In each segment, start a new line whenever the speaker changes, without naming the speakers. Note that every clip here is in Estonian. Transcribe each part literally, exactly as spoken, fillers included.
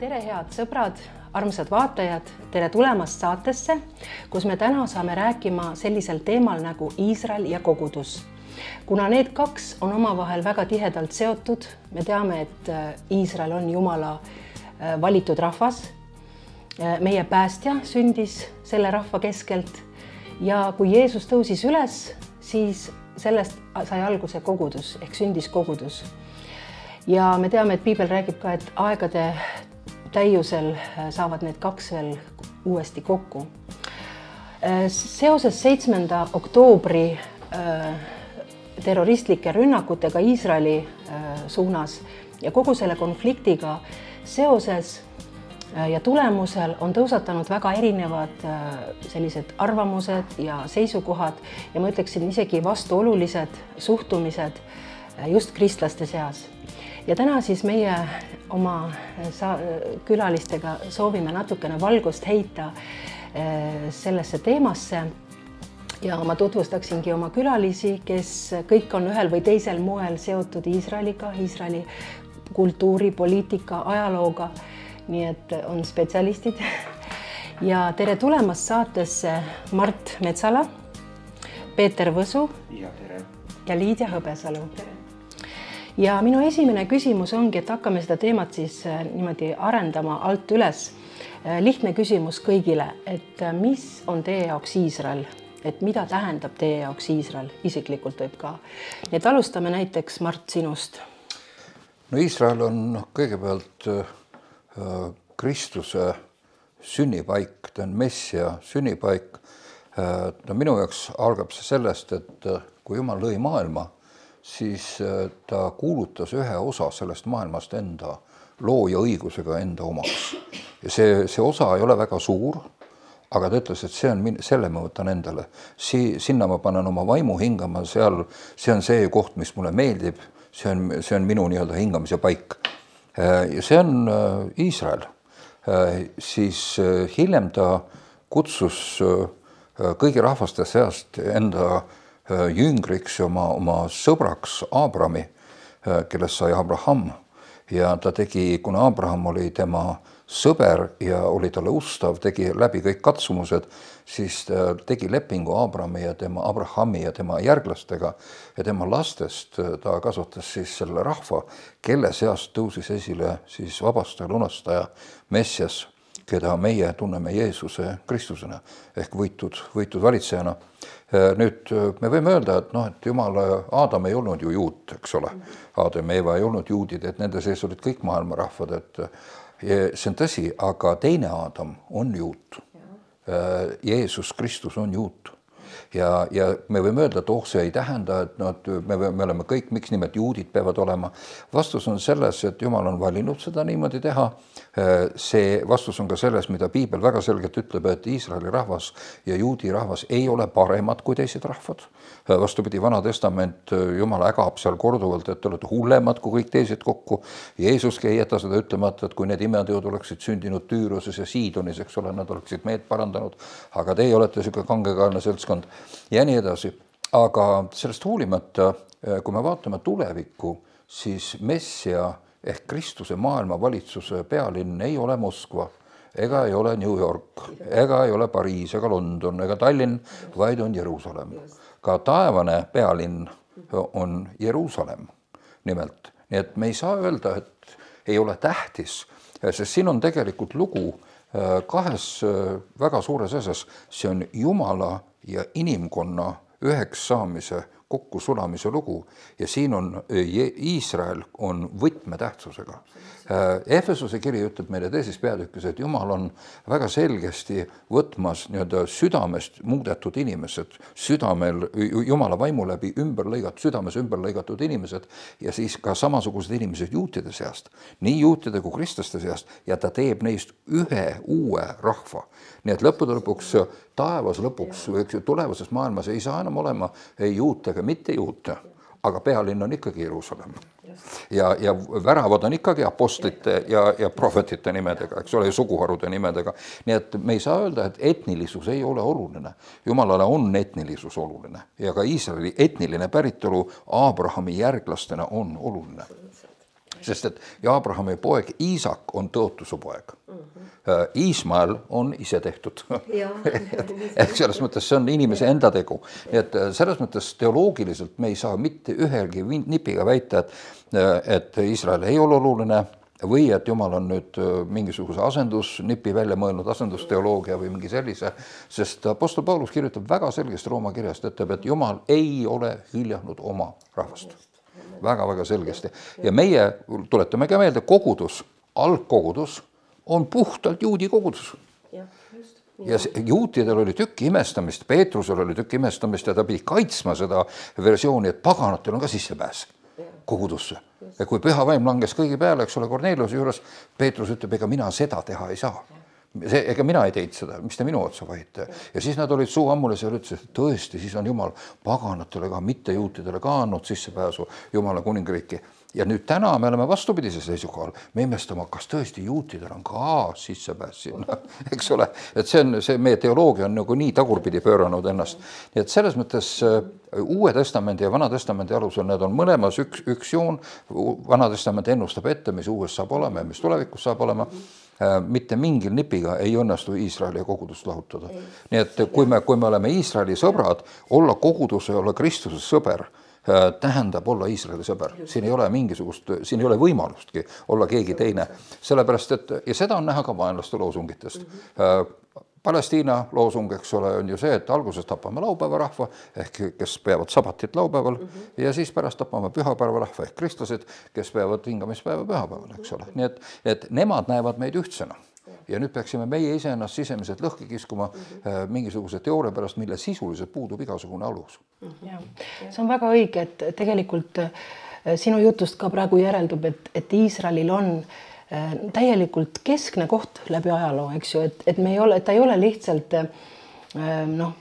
Tere, head sõbrad, armsad vaatajad, tere tulemast saatesse, kus me täna saame rääkima sellisel teemal nagu Iisrael ja kogudus. Kuna need kaks on omavahel väga tihedalt seotud, me teame, et Iisrael on Jumala valitud rahvas. Meie päästja sündis selle rahva keskelt ja kui Jeesus tõusis üles, siis sellest sai alguse kogudus ehk sündis kogudus. Ja me teame, et Piibel räägib ka, et aegade täiusel saavad need kaks veel uuesti kokku. Seoses seitsmenda oktoobri terroristlike rünnakutega Iisraeli suunas ja kogu selle konfliktiga seoses ja tulemusel on tõusatanud väga erinevad sellised arvamused ja seisukohad ja ma ütleksin isegi vastuolulised suhtumised just kristlaste seas. Ja täna siis meie oma külalistega soovime natukene valgust heita sellesse teemasse ja ma tutvustaksingi oma külalisi, kes kõik on ühel või teisel moel seotud Iisraeliga, Iisraeli kultuuri, poliitika, ajalooga, nii et on spetsialistid. Ja tere tulemast saatesse Mart Metsala, Peeter Võsu
ja, tere.
ja Liidia Hõbesalu. Tere. Ja minu esimene küsimus ongi, et hakkame seda teemat siis niimoodi arendama alt üles. Lihtne küsimus kõigile, et mis on teie jaoks Iisrael? Et mida tähendab teie jaoks Iisrael? Isiklikult võib ka. Nii et alustame näiteks Mart sinust.
No Iisrael on kõigepealt Kristuse sünnipaik, ta on Messia sünnipaik. No minu jaoks algab see sellest, et kui Jumal lõi maailma, siis ta kuulutas ühe osa sellest maailmast enda looja õigusega enda omaks. Ja see, see osa ei ole väga suur, aga ta ütles, et see on, selle ma võtan endale. Si, sinna ma panen oma vaimu hingama, seal, see on see koht, mis mulle meeldib, see on, see on minu nii-öelda hingamise paik. Ja see on Iisrael. Siis hiljem ta kutsus kõigi rahvaste seast enda jüngriks oma, oma sõbraks Abrami, kellest sai Abraham. Ja ta tegi, kuna Abraham oli tema sõber ja oli talle ustav, tegi läbi kõik katsumused, siis ta tegi lepingu Abrami ja tema Abrahami ja tema järglastega ja tema lastest ta kasutas siis selle rahva, kelle seast tõusis esile siis vabastaja, lunastaja, Messias, keda meie tunneme Jeesuse Kristusena ehk võitud, võitud valitsejana. Nüüd me võime öelda, et, noh, et Jumal, Aadam ei olnud ju juut, eks ole. Aadam ja Eeva ei olnud juudid, et nende sees olid kõik maailma rahvad, et see on tõsi, aga teine Aadam on juut. Jeesus Kristus on juut. Ja, ja me võime öelda, et oh, see ei tähenda, et no, me, me oleme kõik, miks nimelt juudid peavad olema. Vastus on selles, et Jumal on valinud seda niimoodi teha. See vastus on ka selles, mida Piibel väga selgelt ütleb, et Iisraeli rahvas ja juudi rahvas ei ole paremad kui teised rahvad. Vastupidi, Vana Testament, Jumal ägab seal korduvalt, et te olete hullemad kui kõik teised kokku. Jeesuski ei jäta seda ütlemata, et kui need imeteod oleksid sündinud Tüüruses ja Siidonis, eks ole, nad oleksid meed parandanud, aga teie olete siuke kangekaelne seltskond ja nii edasi. Aga sellest hoolimata, kui me vaatame tulevikku, siis Messia ehk Kristuse maailma valitsuse pealinn ei ole Moskva, ega ei ole New York, ega ei ole Pariis, ega London, ega Tallinn, vaid on Jeruusalemm. Ka taevane pealinn on Jeruusalemm nimelt. Nii et me ei saa öelda, et ei ole tähtis, sest siin on tegelikult lugu kahes väga suures asjas. See on Jumala ja inimkonna üheks saamise kokkusulamise lugu ja siin on Iisrael on võtmetähtsusega. Efesuse kiri ütleb meile teises peatükis, et Jumal on väga selgesti võtmas nii-öelda südamest muudetud inimesed, südamel Jumala vaimu läbi ümber lõigatud, südames ümber lõigatud inimesed ja siis ka samasugused inimesed juutide seast, nii juutide kui kristlaste seast ja ta teeb neist ühe uue rahva. Nii et lõppude lõpuks taevas lõpuks, tulevases maailmas ei saa enam olema ei juute ega mitte juute, aga pealinn on ikkagi Jeruusalemm. Ja, ja väravad on ikkagi apostlite ja, ja prohvetite nimedega, eks ole, suguharude nimedega. Nii et me ei saa öelda, et etnilisus ei ole oluline. Jumalale on etnilisus oluline ja ka Iisraeli etniline päritolu Abrahami järglastena on oluline. sest et Abrahami poeg Iisak on tõotuse poeg. Iismael on ise tehtud. Ehk selles mõttes see on inimese enda tegu. Nii et selles mõttes teoloogiliselt me ei saa mitte ühelgi nipiga väita, et, et Iisrael ei ole oluline või et Jumal on nüüd mingisuguse asendusnipi välja mõelnud, asendusteoloogia või mingi sellise, sest Apostel Paulus kirjutab väga selgesti Rooma kirjast, ütleb, et Jumal ei ole hüljanud oma rahvast. Väga-väga selgesti. Ja meie, tuletame ka meelde, kogudus, algkogudus on puhtalt juudi kogudus. Ja juutidel oli tükki imestamist, Peetrusel oli tükki imestamist ja ta pidi kaitsma seda versiooni, et paganatel on ka sissepääs kogudusse. Ja kui püha vaim langes kõigi peale, eks ole, Korneliuse juures, Peetrus ütleb, ega mina seda teha ei saa. See, ega mina ei teinud seda, mis te minu otsa vahite. Ja siis nad olid suu ammules ja ütlesid, et tõesti, siis on Jumal paganatele ka, mitte juutidele ka andnud sissepääsu Jumala kuningriiki. Ja nüüd täna me oleme vastupidise seisukohal. Me imestame, kas tõesti juutidel on ka sissepääs sinna, eks ole. Et see on, see meie teoloogia on nagu nii tagurpidi pööranud ennast. Nii et selles mõttes Uue testamendi ja Vana testamendi alusel need on mõlemas üks, üks joon. Vana testament ennustab ette, mis uues saab olema ja mis tulevikus saab olema. Mitte mingil nipiga ei õnnestu Iisraeli ja kogudust lahutada. Nii et kui me, kui me oleme Iisraeli sõbrad, olla koguduse, olla Kristuse sõber, tähendab olla Iisraeli sõber. Siin ei ole mingisugust, siin ei ole võimalustki olla keegi teine. Sellepärast, et, ja seda on näha ka vaenlaste loosungitest. Palestiina loosung, eks ole, on ju see, et alguses tapame laupäeva rahva, ehk kes peavad sabatit laupäeval, ja siis pärast tapame pühapäeva rahva, ehk kristlased, kes peavad hingamispäeva pühapäeval, eks ole. Nii et, et nemad näevad meid ühtsena. Ja nüüd peaksime meie ise ennast sisemiselt lõhki kiskuma mingisuguse teooria pärast, mille sisuliselt puudub igasugune alus.
Ja, see on väga õige, et tegelikult sinu jutust ka praegu järeldub, et, et Iisraelil on täielikult keskne koht läbi ajaloo, eks ju, et, et me ei ole, et ta ei ole lihtsalt noh,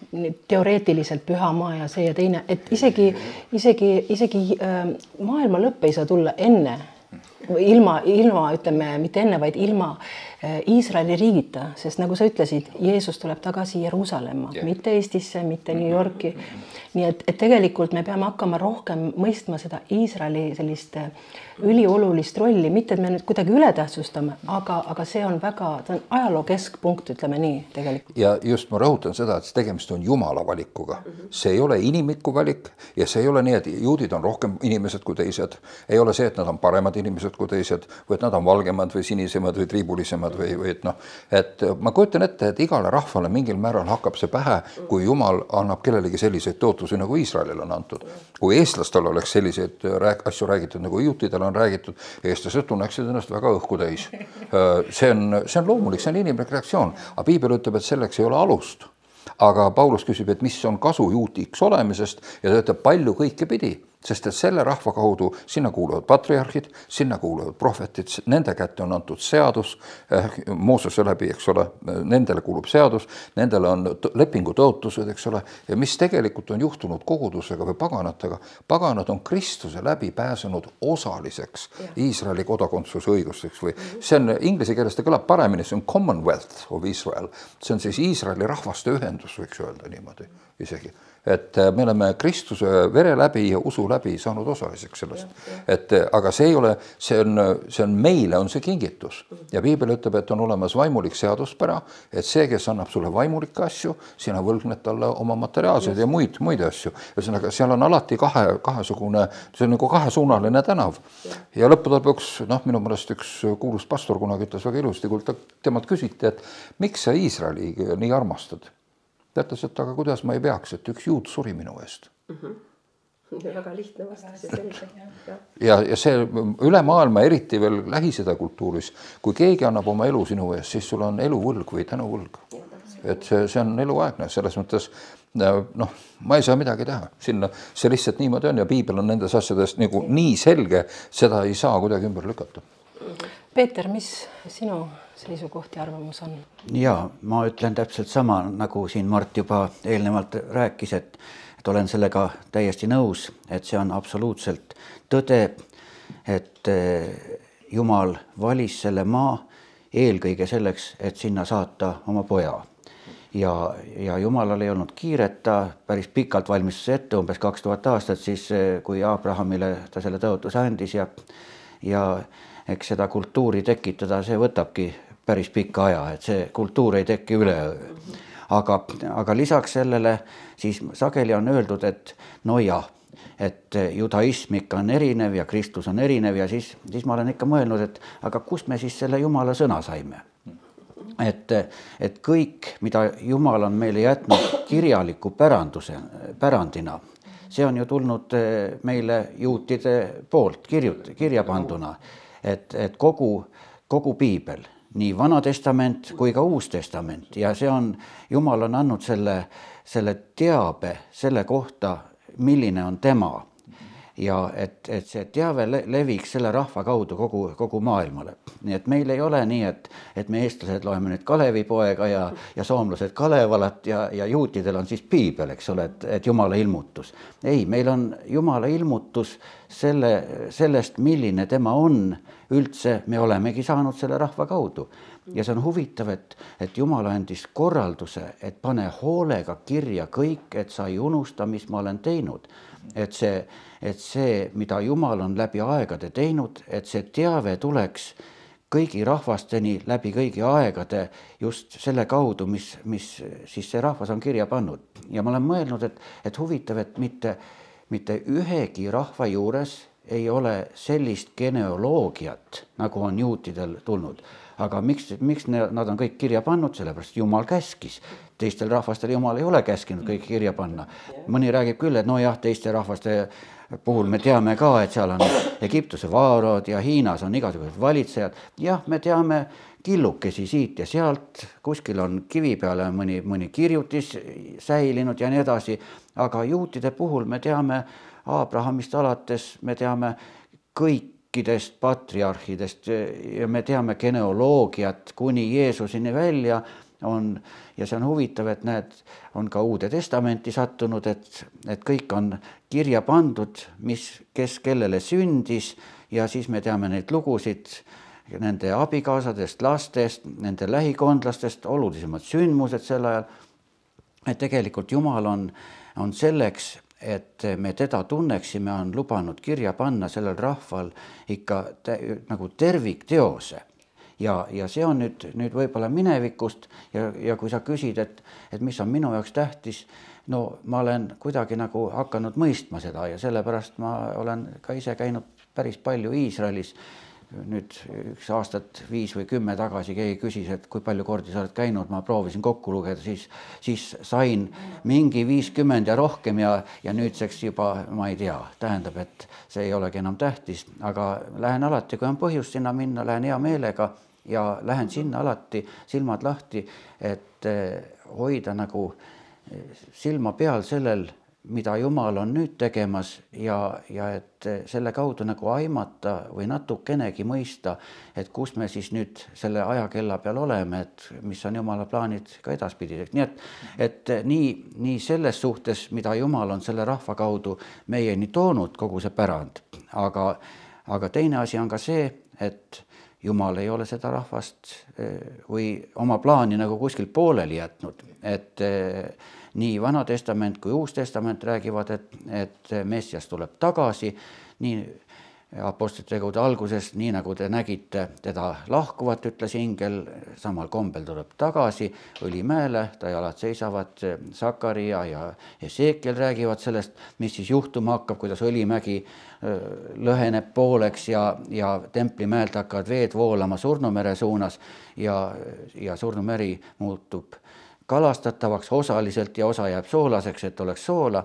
teoreetiliselt püha maa ja see ja teine, et isegi, isegi, isegi maailma lõpp ei saa tulla enne, ilma, ilma, ütleme, mitte enne, vaid ilma Iisraeli riigita, sest nagu sa ütlesid, Jeesus tuleb tagasi Jeruusalemma, yeah. mitte Eestisse, mitte New Yorki. Nii et, et tegelikult me peame hakkama rohkem mõistma seda Iisraeli sellist üliolulist rolli, mitte et me nüüd kuidagi ületähtsustame, aga, aga see on väga, ta on ajaloo keskpunkt, ütleme nii tegelikult.
Ja just ma rõhutan seda, et tegemist on Jumala valikuga. See ei ole inimiku valik ja see ei ole nii, et juudid on rohkem inimesed kui teised. Ei ole see, et nad on paremad inimesed kui teised või et nad on valgemad või sinisemad või triibulisemad või, või et noh, et ma kujutan ette, et igale rahvale mingil määral hakkab see pähe, kui Jumal annab kellelegi selliseid tootusi, nagu Iisraelil on antud. Kui eestlastel oleks selliseid asju räägitud, nagu juutidel on räägitud, eestlased tunneksid ennast väga õhku täis. See on, see on loomulik, see on inimlik reaktsioon, aga Piibel ütleb, et selleks ei ole alust. Aga Paulus küsib, et mis on kasu juutiks olemisest ja ta ütleb palju kõike pidi. Sest et selle rahva kaudu sinna kuuluvad patriarhid, sinna kuuluvad prohvetid, nende kätte on antud seadus, Moosese läbi, eks ole, nendele kuulub seadus, nendele on lepingu tõotused, eks ole, ja mis tegelikult on juhtunud kogudusega või paganatega, paganad on Kristuse läbi pääsenud osaliseks Iisraeli kodakondsuse õigusteks või see on inglise keeles ta kõlab paremini, see on Commonwealth of Israel, see on siis Iisraeli rahvaste ühendus, võiks öelda niimoodi isegi. Et me oleme Kristuse vere läbi ja usu läbi saanud osaliseks sellest. Et, aga see ei ole, see on, see on meile on see kingitus. Ja Piibel ütleb, et on olemas vaimulik seaduspära, et see, kes annab sulle vaimulikke asju, sina võlgned talle oma materiaalseid ja muid, muid asju. Ühesõnaga, seal on alati kahe, kahesugune, see on nagu kahesuunaline tänav. Ja lõppude lõpuks, noh, minu mõelest üks kuulus pastor kunagi ütles väga ilusti, kui temalt küsiti, et miks sa Iisraeli nii armastad? Ta ütles, et aga kuidas ma ei peaks, et üks juut suri minu eest.
Mm-hmm. Väga lihtne vastus ja selge.
Ja, ja see üle maailma, eriti veel Lähis-Ida kultuuris, kui keegi annab oma elu sinu eest, siis sul on eluvõlg või tänuvõlg. Et see, see on eluaegne, selles mõttes, noh, ma ei saa midagi teha. Sinna, see lihtsalt niimoodi on ja Piibel on nendes asjadest nagu nii selge, seda ei saa kuidagi ümber lükata.
Peeter, mis sinu seisukoht ja arvamus on?
Ja, ma ütlen täpselt sama, nagu siin Mart juba eelnevalt rääkis, et, et olen sellega täiesti nõus, et see on absoluutselt tõde, et Jumal valis selle maa eelkõige selleks, et sinna saata oma poja. Ja, ja Jumalal ei olnud kiiret, ta päris pikalt valmistus ette, umbes kaks tuhat aastat, siis kui Abrahamile ta selle tõotuse andis ja ja eks seda kultuuri tekitada, see võtabki päris pika aja, et see kultuur ei teki üleöö. Aga, aga lisaks sellele siis sageli on öeldud, et no jah, et judaism ikka on erinev ja Kristus on erinev ja siis, siis ma olen ikka mõelnud, et aga kust me siis selle Jumala sõna saime? Et, et kõik, mida Jumal on meile jätnud kirjaliku päranduse, pärandina, see on ju tulnud meile juutide poolt kirjut, kirja panduna, et, et kogu, kogu piibel, nii Vana Testament kui ka Uus Testament ja see on, Jumal on andnud selle, selle teabe selle kohta, milline on tema ja et, et see teave leviks selle rahva kaudu kogu, kogu maailmale. Nii et meil ei ole nii, et, et me eestlased loeme nüüd Kalevipoega ja, ja soomlased Kalevalat ja, ja juutidel on siis piibel, eks ole, et, et Jumala ilmutus. Ei, meil on Jumala ilmutus selle, sellest, milline tema on üldse, me olemegi saanud selle rahva kaudu. Ja see on huvitav, et, et Jumal andis korralduse, et pane hoolega kirja kõik, et sa ei unusta, mis ma olen teinud. Et see, et see, mida Jumal on läbi aegade teinud, et see teave tuleks kõigi rahvasteni läbi kõigi aegade just selle kaudu, mis, mis siis see rahvas on kirja pannud. Ja ma olen mõelnud, et, et huvitav, et mitte, mitte ühegi rahva juures ei ole sellist geneoloogiat, nagu on juutidel tulnud. Aga miks, miks nad on kõik kirja pannud? Sellepärast Jumal käskis. Teistel rahvastel Jumal ei ole käskinud kõik kirja panna. Mõni räägib küll, et no jah, teiste rahvaste puhul me teame ka, et seal on Egiptuse vaarod ja Hiinas on igasugused valitsejad. Jah, me teame killukesi siit ja sealt, kuskil on kivi peale mõni, mõni kirjutis säilinud ja nii edasi. Aga juutide puhul me teame Abrahamist alates, me teame kõikidest patriarhidest ja me teame geneoloogiat kuni Jeesusini välja on, ja see on huvitav, et näed, on ka Uude Testamenti sattunud, et, et kõik on kirja pandud, mis, kes kellele sündis ja siis me teame neid lugusid nende abikaasadest, lastest, nende lähikondlastest, olulisemad sündmused sel ajal, et tegelikult Jumal on, on selleks, et me teda tunneksime, on lubanud kirja panna sellel rahval ikka te, nagu tervikteose. Ja, ja see on nüüd, nüüd võib-olla minevikust ja, ja kui sa küsid, et, et mis on minu jaoks tähtis, no ma olen kuidagi nagu hakanud mõistma seda ja sellepärast ma olen ka ise käinud päris palju Iisraelis. Nüüd üks aastat viis või kümme tagasi keegi küsis, et kui palju kordi sa oled käinud, ma proovisin kokku lugeda, siis, siis sain mingi viiskümmend ja rohkem ja, ja nüüdseks juba ma ei tea, tähendab, et see ei olegi enam tähtis, aga lähen alati, kui on põhjus sinna minna, lähen hea meelega ja lähen sinna alati silmad lahti, et hoida nagu silma peal sellel, mida Jumal on nüüd tegemas ja, ja et selle kaudu nagu aimata või natukenegi mõista, et kus me siis nüüd selle ajakella peal oleme, et mis on Jumala plaanid ka edaspidiseks. Nii et, et nii, nii selles suhtes, mida Jumal on selle rahva kaudu meieni toonud, kogu see pärand, aga, aga teine asi on ka see, et Jumal ei ole seda rahvast või oma plaani nagu kuskil pooleli jätnud, et nii Vana Testament kui Uus Testament räägivad, et, et Messias tuleb tagasi, nii apostlite tegude alguses, nii nagu te nägite teda lahkuvat, ütles ingel, samal kombel tuleb tagasi Õlimäele, ta jalad seisavad, Sakaria ja Esekiel räägivad sellest, mis siis juhtuma hakkab, kuidas Õlimägi lõheneb pooleks ja, ja Templimäelt hakkavad veed voolama Surnumere suunas ja, ja Surnumeri muutub kalastatavaks osaliselt ja osa jääb soolaseks, et oleks soola,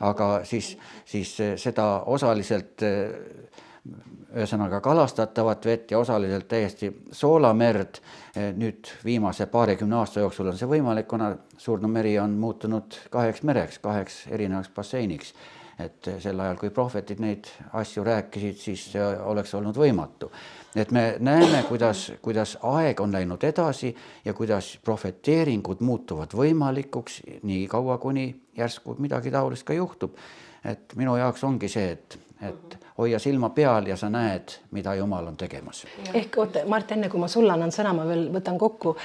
aga siis, siis seda osaliselt ühesõnaga kalastatavat vett ja osaliselt täiesti soolamerd. Nüüd viimase paarikümne aasta jooksul on see võimalik, kuna Surnumeri on muutunud kaheks mereks, kaheks erinevaks basseiniks. Et sel ajal, kui prohvetid neid asju rääkisid, siis oleks olnud võimatu. Et me näeme, kuidas, kuidas aeg on läinud edasi ja kuidas profeteeringud muutuvad võimalikuks nii kaua, kuni järsku midagi taolist ka juhtub. Et minu jaoks ongi see, et, et hoia silma peal ja sa näed, mida Jumal on tegemas.
Ehk, oota, Mart, enne kui ma sulle annan sõna, ma veel võtan kokku,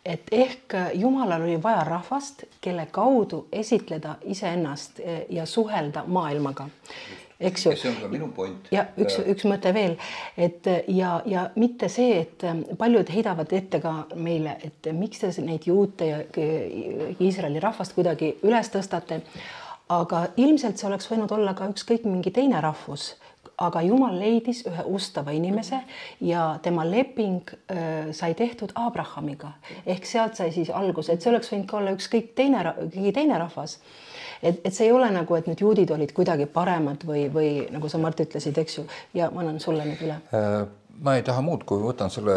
et ehk Jumalal oli vaja rahvast, kelle kaudu esitleda iseennast ja suhelda maailmaga. eks ju.
Ja see on ka minu point.
Ja üks, üks mõte veel, et ja, ja mitte see, et paljud heidavad ette ka meile, et miks te neid juute ja Iisraeli rahvast kuidagi üles tõstate, aga ilmselt see oleks võinud olla ka ükskõik mingi teine rahvus, aga Jumal leidis ühe ustava inimese ja tema leping äh, sai tehtud Abrahamiga. Ehk sealt sai siis algus, et see oleks võinud ka olla ükskõik teine, teine rahvas. Et, et see ei ole nagu, et nüüd juudid olid kuidagi paremad või, või nagu sa Mart ütlesid, eks ju, ja ma annan sulle nüüd üle.
Ma ei taha muud, kui võtan selle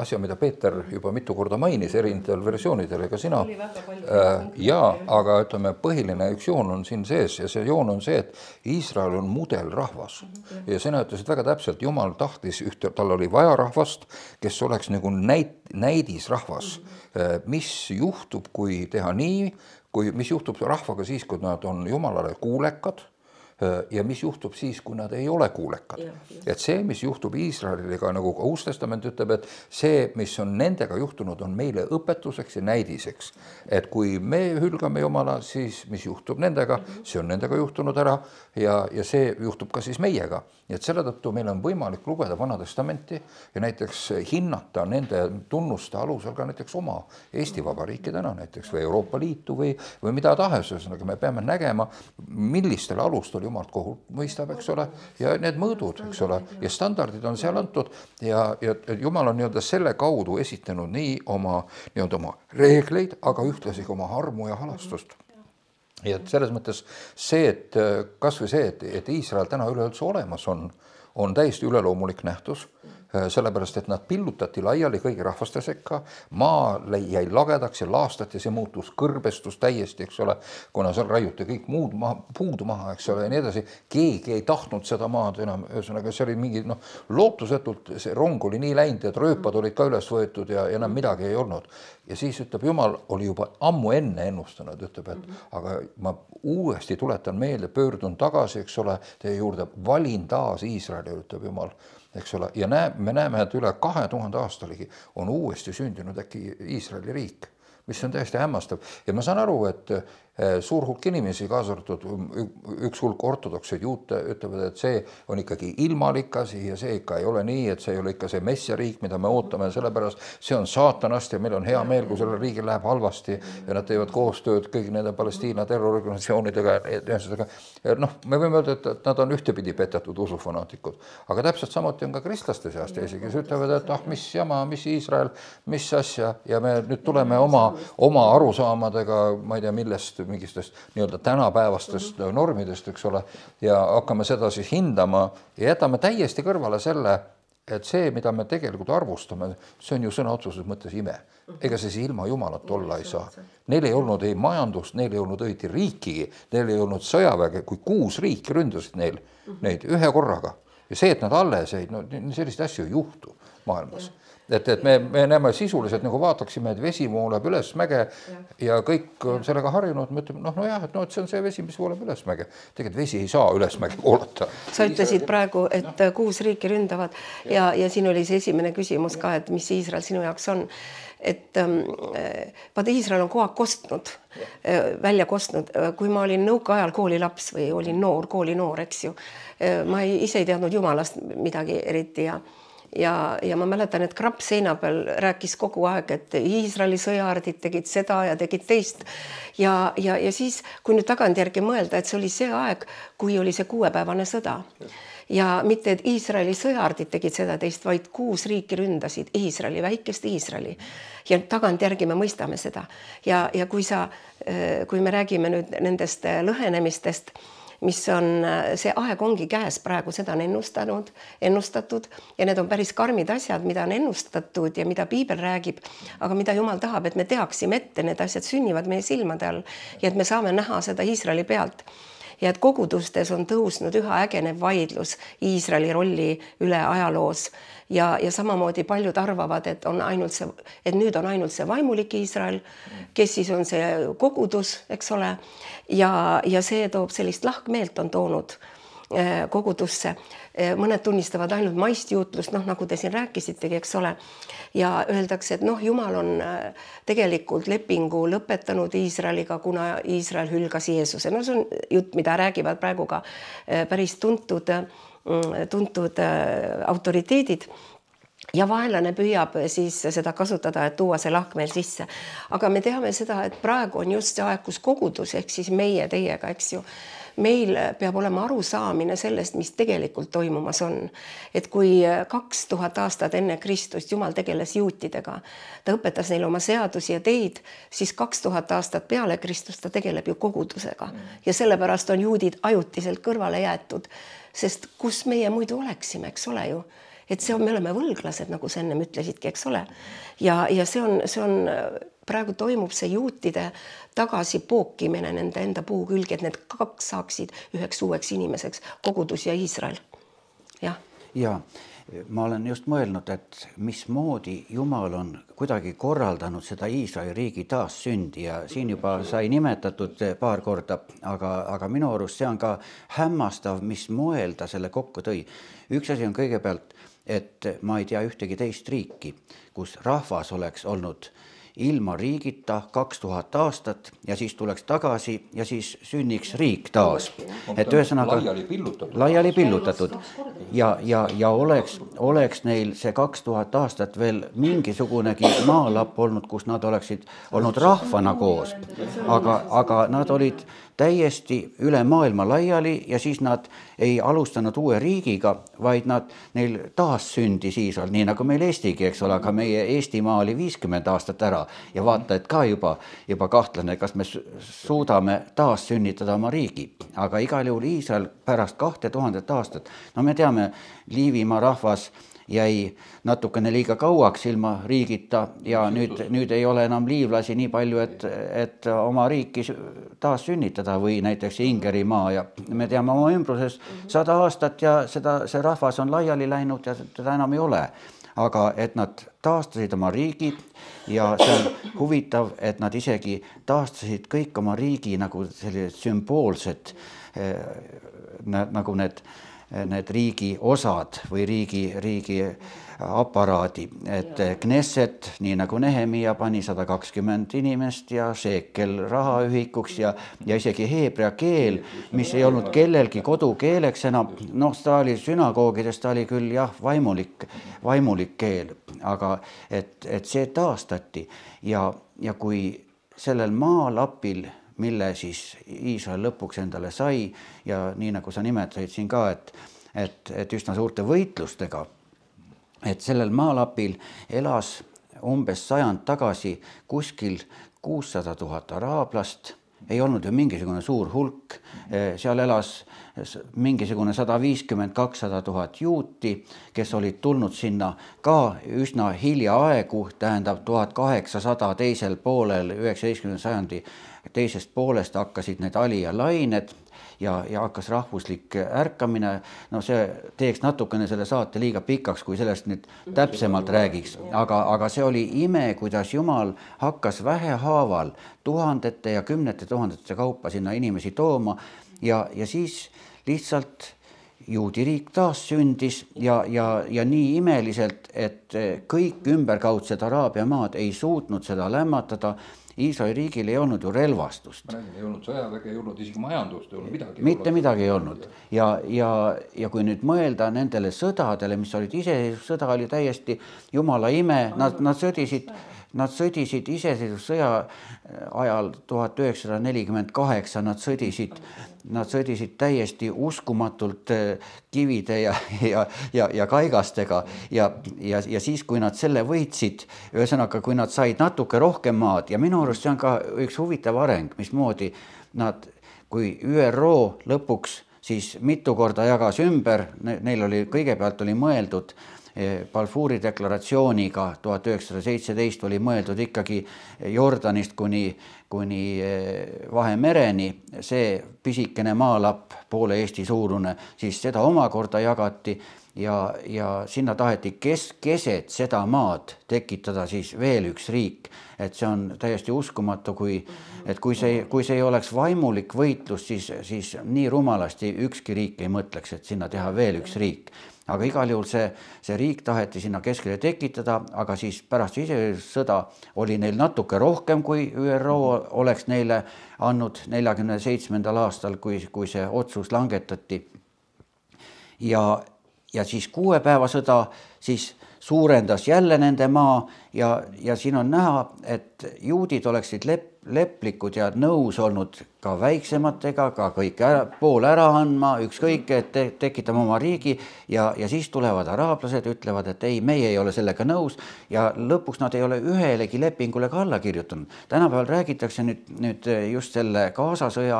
asja, mida Peeter juba mitu korda mainis erinevatel versioonidel, ega sina. Ja, aga ütleme, põhiline üks joon on siin sees ja see joon on see, et Iisrael on mudelrahvas. Ja sina ütlesid väga täpselt, Jumal tahtis ühte, tal oli vaja rahvast, kes oleks nagu näid, näidisrahvas. Mis juhtub, kui teha nii, kui, mis juhtub rahvaga siis, kui nad on Jumalale kuulekad, ja mis juhtub siis, kui nad ei ole kuulekad. Et see, mis juhtub Iisraeliga, nagu ka Uus Testament ütleb, et see, mis on nendega juhtunud, on meile õpetuseks ja näidiseks. Et kui me hülgame Jumala, siis mis juhtub nendega, see on nendega juhtunud ära ja, ja see juhtub ka siis meiega. Et selle tõttu meil on võimalik lugeda Vana Testamenti ja näiteks hinnata nende tunnuste alusel ka näiteks oma Eesti Vabariiki täna näiteks või Euroopa Liitu või, või mida tahes. Me peame nägema, millistel alustel Jumalt kohut mõistab, eks ole, ja need mõõdud, eks ole, ja standardid on seal antud ja, ja Jumal on nii-öelda selle kaudu esitanud nii oma, nii-öelda oma reegleid, aga ühtlasi oma armu ja halastust. Ja selles mõttes see, et kas või see, et, et Iisrael täna üleüldse olemas on, on täiesti üleloomulik nähtus, sellepärast, et nad pillutati laiali kõigi rahvaste sekka, maa jäi lagedaks ja laastati, see muutus kõrbestus täiesti, eks ole, kuna seal raiuti kõik muud maha, puudu maha, eks ole, ja nii edasi. Keegi ei tahtnud seda maad enam, ühesõnaga see oli mingi, noh, lootusetult see rong oli nii läinud, et rööpad olid ka üles võetud ja, ja enam midagi ei olnud. Ja siis ütleb, Jumal oli juba ammu enne ennustanud, ütleb, et aga ma uuesti tuletan meelde, pöördun tagasi, eks ole, teie juurde, valin taas Iisraeli, ütleb Jumal. Eks ole, ja näe, me näeme, et üle kahe tuhande aastaligi on uuesti sündinud äkki Iisraeli riik, mis on täiesti hämmastav. Ja ma saan aru, et suur hulk inimesi, kaasa arvatud üks hulk ortodokseid juute ütlevad, et see on ikkagi ilmalik asi ja see ikka ei ole nii, et see ei ole ikka see messiariik, mida me ootame, sellepärast see on saatanast ja meil on hea meel, kui sellel riigil läheb halvasti ja nad teevad koostööd kõigi nende Palestiina terrororganisatsioonidega. Noh, me võime öelda, et nad on ühtepidi petetud usufanaatikud, aga täpselt samuti on ka kristlaste seast ja isegi ütlevad, et ah, mis jama, mis Iisrael, mis asja ja me nüüd tuleme oma, oma arusaamadega, ma ei tea, millest mingistest nii-öelda tänapäevastest normidest, eks ole, ja hakkame seda siis hindama ja jätame täiesti kõrvale selle, et see, mida me tegelikult arvustame, see on ju sõna otseses mõttes ime. Ega see siis ilma Jumalat olla ei saa. Neil ei olnud ei majandust, neil ei olnud õiti riikigi, neil ei olnud sõjaväge, kui kuus riiki ründasid neil, neid ühe korraga. Ja see, et nad alles ei, no sellist asju ei juhtu maailmas. Et, et me, me näeme sisuliselt, nagu vaataksime, et vesi voolab üles mäge ja kõik on sellega harjunud. Me ütleme, noh, no jah, et, no, et see on see vesi, mis voolab üles mäge. Tegelikult vesi ei saa üles mäge voolata.
Sa ütlesid praegu, et kuus riiki ründavad ja, ja siin oli see esimene küsimus ka, et mis Iisrael sinu jaoks on. Et vaata, Iisrael on kogu aeg kostnud, välja kostnud. Kui ma olin nõukaajal koolilaps või olin noor, kooli noor, eks ju, ma ei, ise ei teadnud Jumalast midagi eriti ja Ja, ja ma mäletan, et Krapp seina peal rääkis kogu aeg, et Iisraeli sõjaardid tegid seda ja tegid teist. Ja, ja, ja siis, kui nüüd tagantjärgi mõelda, et see oli see aeg, kui oli see kuuepäevane sõda. Ja mitte, et Iisraeli sõjaardid tegid seda teist, vaid kuus riiki ründasid Iisraeli, väikest Iisraeli. Ja tagantjärgi me mõistame seda. Ja, ja kui, sa, kui me räägime nüüd nendest lõhenemistest, mis on, see aeg ongi käes praegu, seda on ennustanud, ennustatud ja need on päris karmid asjad, mida on ennustatud ja mida Piibel räägib, aga mida Jumal tahab, et me teaksime ette, need asjad sünnivad meie silmade all ja et me saame näha seda Iisraeli pealt. Ja et kogudustes on tõusnud üha ägenev vaidlus Iisraeli rolli üle ajaloos ja, ja samamoodi paljud arvavad, et, on ainult see, et nüüd on ainult see vaimulik Iisrael, kes siis on see kogudus, eks ole, ja, ja see toob sellist lahkmeelt on toonud kogudusse. Mõned tunnistavad ainult maist juutlust, noh, nagu te siin rääkisitegi, eks ole. Ja öeldakse, et noh, Jumal on tegelikult lepingu lõpetanud Iisraeliga, kuna Iisrael hülgas Jeesuse. No see on jutt, mida räägivad praegu ka päris tuntud, tuntud autoriteedid. Ja vaenlane püüab siis seda kasutada, et tuua see lahk meil sisse. Aga me teame seda, et praegu on just see aeg, kus kogudus, ehk siis meie teiega, eks ju, meil peab olema arusaamine sellest, mis tegelikult toimumas on. Et kui kaks tuhat aastat enne Kristust Jumal tegeles juutidega, ta õpetas neile oma seadusi ja teid, siis kaks tuhat aastat peale Kristust ta tegeleb ju kogudusega. Ja sellepärast on juudid ajutiselt kõrvale jäetud, sest kus meie muidu oleksime, eks ole ju. Et see on, me oleme võlglased, nagu sa ennem ütlesidki, eks ole. Ja, ja see on, see on, praegu toimub see juutide tagasi pookimine nende enda puu külge, et need kaks saaksid üheks uueks inimeseks, kogudus ja Iisrael. Jah.
Ja, ma olen just mõelnud, et mismoodi Jumal on kuidagi korraldanud seda Iisraeli riigi taassündi ja siin juba sai nimetatud paar korda, aga, aga minu arust see on ka hämmastav, mis moel ta selle kokku tõi. Üks asi on kõigepealt, et ma ei tea ühtegi teist riiki, kus rahvas oleks olnud ilma riigita kaks tuhat aastat ja siis tuleks tagasi ja siis sünniks riik taas. Et ühesõnaga
laiali pillutatud,
laiali pillutatud. Ja, ja, ja oleks, oleks neil see kaks tuhat aastat veel mingisugunegi maalapp olnud, kus nad oleksid olnud rahvana koos. Aga, aga nad olid täiesti üle maailma laiali ja siis nad ei alustanud uue riigiga, vaid nad, neil taas sündis Iisrael, nii nagu meil Eestigi, eks ole, aga meie Eestimaa oli viiskümmend aastat ära ja vaata, et ka juba, juba kahtlane, kas me suudame taas sünnitada oma riigi. Aga igal juhul Iisrael pärast kahte tuhandet aastat, no me teame, Liivimaa rahvas jäi natukene liiga kauaks ilma riigita ja nüüd, nüüd ei ole enam liivlasi nii palju, et, et oma riiki taas sünnitada või näiteks Ingerimaa ja me teame oma ümbruses sada aastat ja seda, see rahvas on laiali läinud ja teda enam ei ole. Aga et nad taastasid oma riigi ja see on huvitav, et nad isegi taastasid kõik oma riigi nagu sellised sümboolsed nagu need need riigi osad või riigi, riigi aparaadi, et Knesset, nii nagu Nehemia pani sada kakskümmend inimest ja Shekel rahaühikuks ja, ja isegi heebrea keel, mis ei olnud kellelgi kodukeeleks enam, noh, ta oli sünagoogides, ta oli küll jah, vaimulik, vaimulik keel, aga et, et see taastati ja, ja kui sellel maalapil mille siis Iisrael lõpuks endale sai ja nii nagu sa nimetasid siin ka, et, et, et üsna suurte võitlustega, et sellel maalapil elas umbes sajand tagasi kuskil kuussada tuhat araablast, ei olnud ju mingisugune suur hulk, seal elas mingisugune sada viiskümmend kakssada tuhat juuti, kes olid tulnud sinna ka üsna hiljaaegu, tähendab tuhat kaheksasada teisel poolel üheksateistkümnenda sajandi teisest poolest hakkasid need alija lained ja, ja hakkas rahvuslik ärkamine. No see teeks natukene selle saate liiga pikaks, kui sellest nüüd täpsemalt räägiks, aga, aga see oli ime, kuidas Jumal hakkas vähehaaval tuhandete ja kümnete tuhandete kaupa sinna inimesi tooma ja, ja siis lihtsalt juudi riik taas sündis ja, ja, ja nii imeliselt, et kõik ümberkaudsed Araabia maad ei suutnud seda lämmatada. Iisraeli riigil ei olnud ju relvastust.
Ei olnud sõjaväge, ei olnud isegi majandust, ei olnud midagi.
Mitte midagi ei olnud. Ja, ja, ja kui nüüd mõelda nendele sõdadele, mis olid iseseisvussõda, oli täiesti Jumala ime, nad, nad sõdisid, nad sõdisid iseseisvussõja ajal tuhat üheksasada nelikümmend kaheksa, nad sõdisid, nad sõdisid täiesti uskumatult kivide ja, ja, ja, ja kaigastega ja, ja, ja siis, kui nad selle võitsid, ühesõnaga, kui nad said natuke rohkem maad ja minu arust see on ka üks huvitav areng, mismoodi nad, kui Ü R O lõpuks siis mitu korda jagas ümber, neil oli, kõigepealt oli mõeldud Balfouri deklaratsiooniga tuhat üheksasada seitseteist oli mõeldud ikkagi Jordanist kuni, kuni Vahemereni, see pisikene maalapp, poole Eesti suurune, siis seda omakorda jagati ja, ja sinna taheti kes, keset seda maad tekitada siis veel üks riik. Et see on täiesti uskumatu, kui, et kui see, kui see ei oleks vaimulik võitlus, siis, siis nii rumalasti ükski riik ei mõtleks, et sinna teha veel üks riik. Aga igal juhul see, see riik taheti sinna keskele tekitada, aga siis pärast iseseisvussõda oli neil natuke rohkem, kui Ü R O oleks neile andnud neljakümne seitsmendal aastal, kui, kui see otsus langetati. Ja, ja siis kuue päeva sõda siis suurendas jälle nende maa ja, ja siin on näha, et juudid oleksid lep, leplikud ja nõus olnud ka väiksematega, ka kõik ära, pool ära andma, ükskõik, et te, tekitame oma riigi ja, ja siis tulevad araablased, ütlevad, et ei, meie ei ole sellega nõus ja lõpuks nad ei ole ühelegi lepingule ka alla kirjutanud. Tänapäeval räägitakse nüüd, nüüd just selle Gaza sõja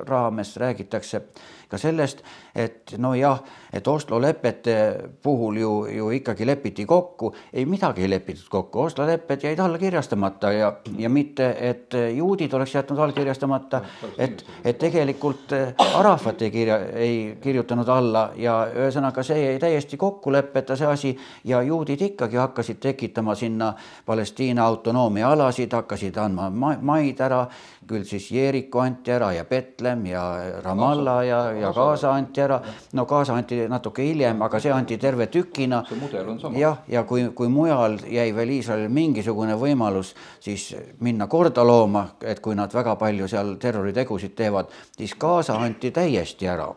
raames räägitakse ka sellest, et no jah, et Oslo lepete puhul ju, ju ikkagi lepiti kokku, ei midagi ei lepitud kokku, Oslo lepped jäid alla kirjastamata ja, ja mitte, et juudid oleks jätnud allkirjastamata, et, et tegelikult Arafat ei, kirja, ei kirjutanud alla ja ühesõnaga see jäi täiesti kokkuleppeta see asi ja juudid ikkagi hakkasid tekitama sinna Palestiina autonoomia alasid, hakkasid andma maid ära, küll siis Jeeriku anti ära ja Betlem ja Ramallah ja, ja Gaza anti ära. No Gaza anti natuke hiljem, aga see anti terve tükina.
See mudel on sama.
Jah, ja kui, kui mujal jäi veel Iisraelil mingisugune võimalus siis minna korda looma, et kui nad väga palju seal terroritegusid teevad, siis Gaza anti täiesti ära.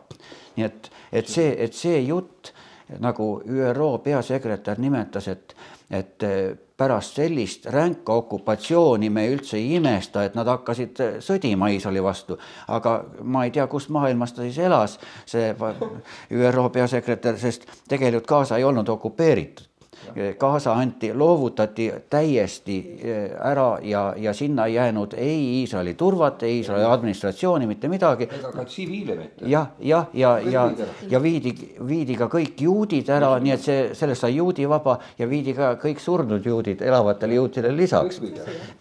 Nii et, et, see, et see jutt, nagu Ü R O peasekretär nimetas, et, et pärast sellist ränka okupatsiooni me üldse ei imesta, et nad hakkasid sõdima Iisraeli vastu. Aga ma ei tea, kus maailmas ta siis elas, see Ü R O peasekretär, sest tegelikult Gaza ei olnud okupeeritud. Gaza anti, loovutati täiesti ära ja, ja sinna ei jäänud ei Iisraeli turvat, ei Iisraeli administratsiooni, mitte midagi.
Ega ka tsiviile mitte.
Ja, ja, ja, ja, ja viidi, viidi ka kõik juudid ära, nii et see, sellest sai juudi vaba ja viidi ka kõik surnud juudid elavatele juutidele lisaks.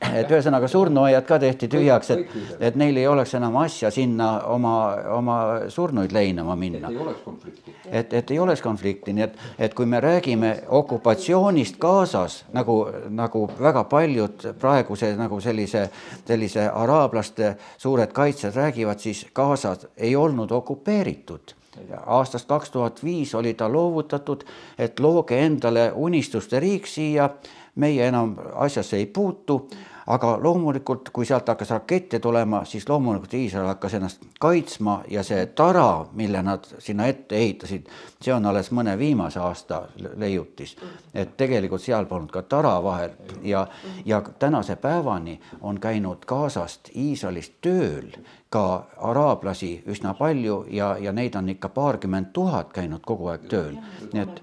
Et ühesõnaga surnuaiad ka tehti tühjaks, et, et neil ei oleks enam asja sinna oma, oma surnuid leinama minna.
Et ei oleks konflikti.
Et, et ei oleks konflikti, nii et, et kui me räägime okupatsioonist Gazas, nagu, nagu väga paljud praeguse nagu sellise, sellise araablaste suured kaitsjad räägivad, siis Gazas ei olnud okupeeritud. Aastast kaks tuhat viis oli ta loovutatud, et looge endale unistuste riik siia, meie enam asjasse ei puutu, aga loomulikult, kui sealt hakkas rakette tulema, siis loomulikult Iisrael hakkas ennast kaitsma ja see tara, mille nad sinna ette ehitasid, see on alles mõne viimase aasta leiutis. Et tegelikult seal polnud ka tara vahel ja, ja tänase päevani on käinud Gazast Iisraelist tööl ka araablasi üsna palju ja, ja neid on ikka paarkümmend tuhat käinud kogu aeg tööl. Nii et,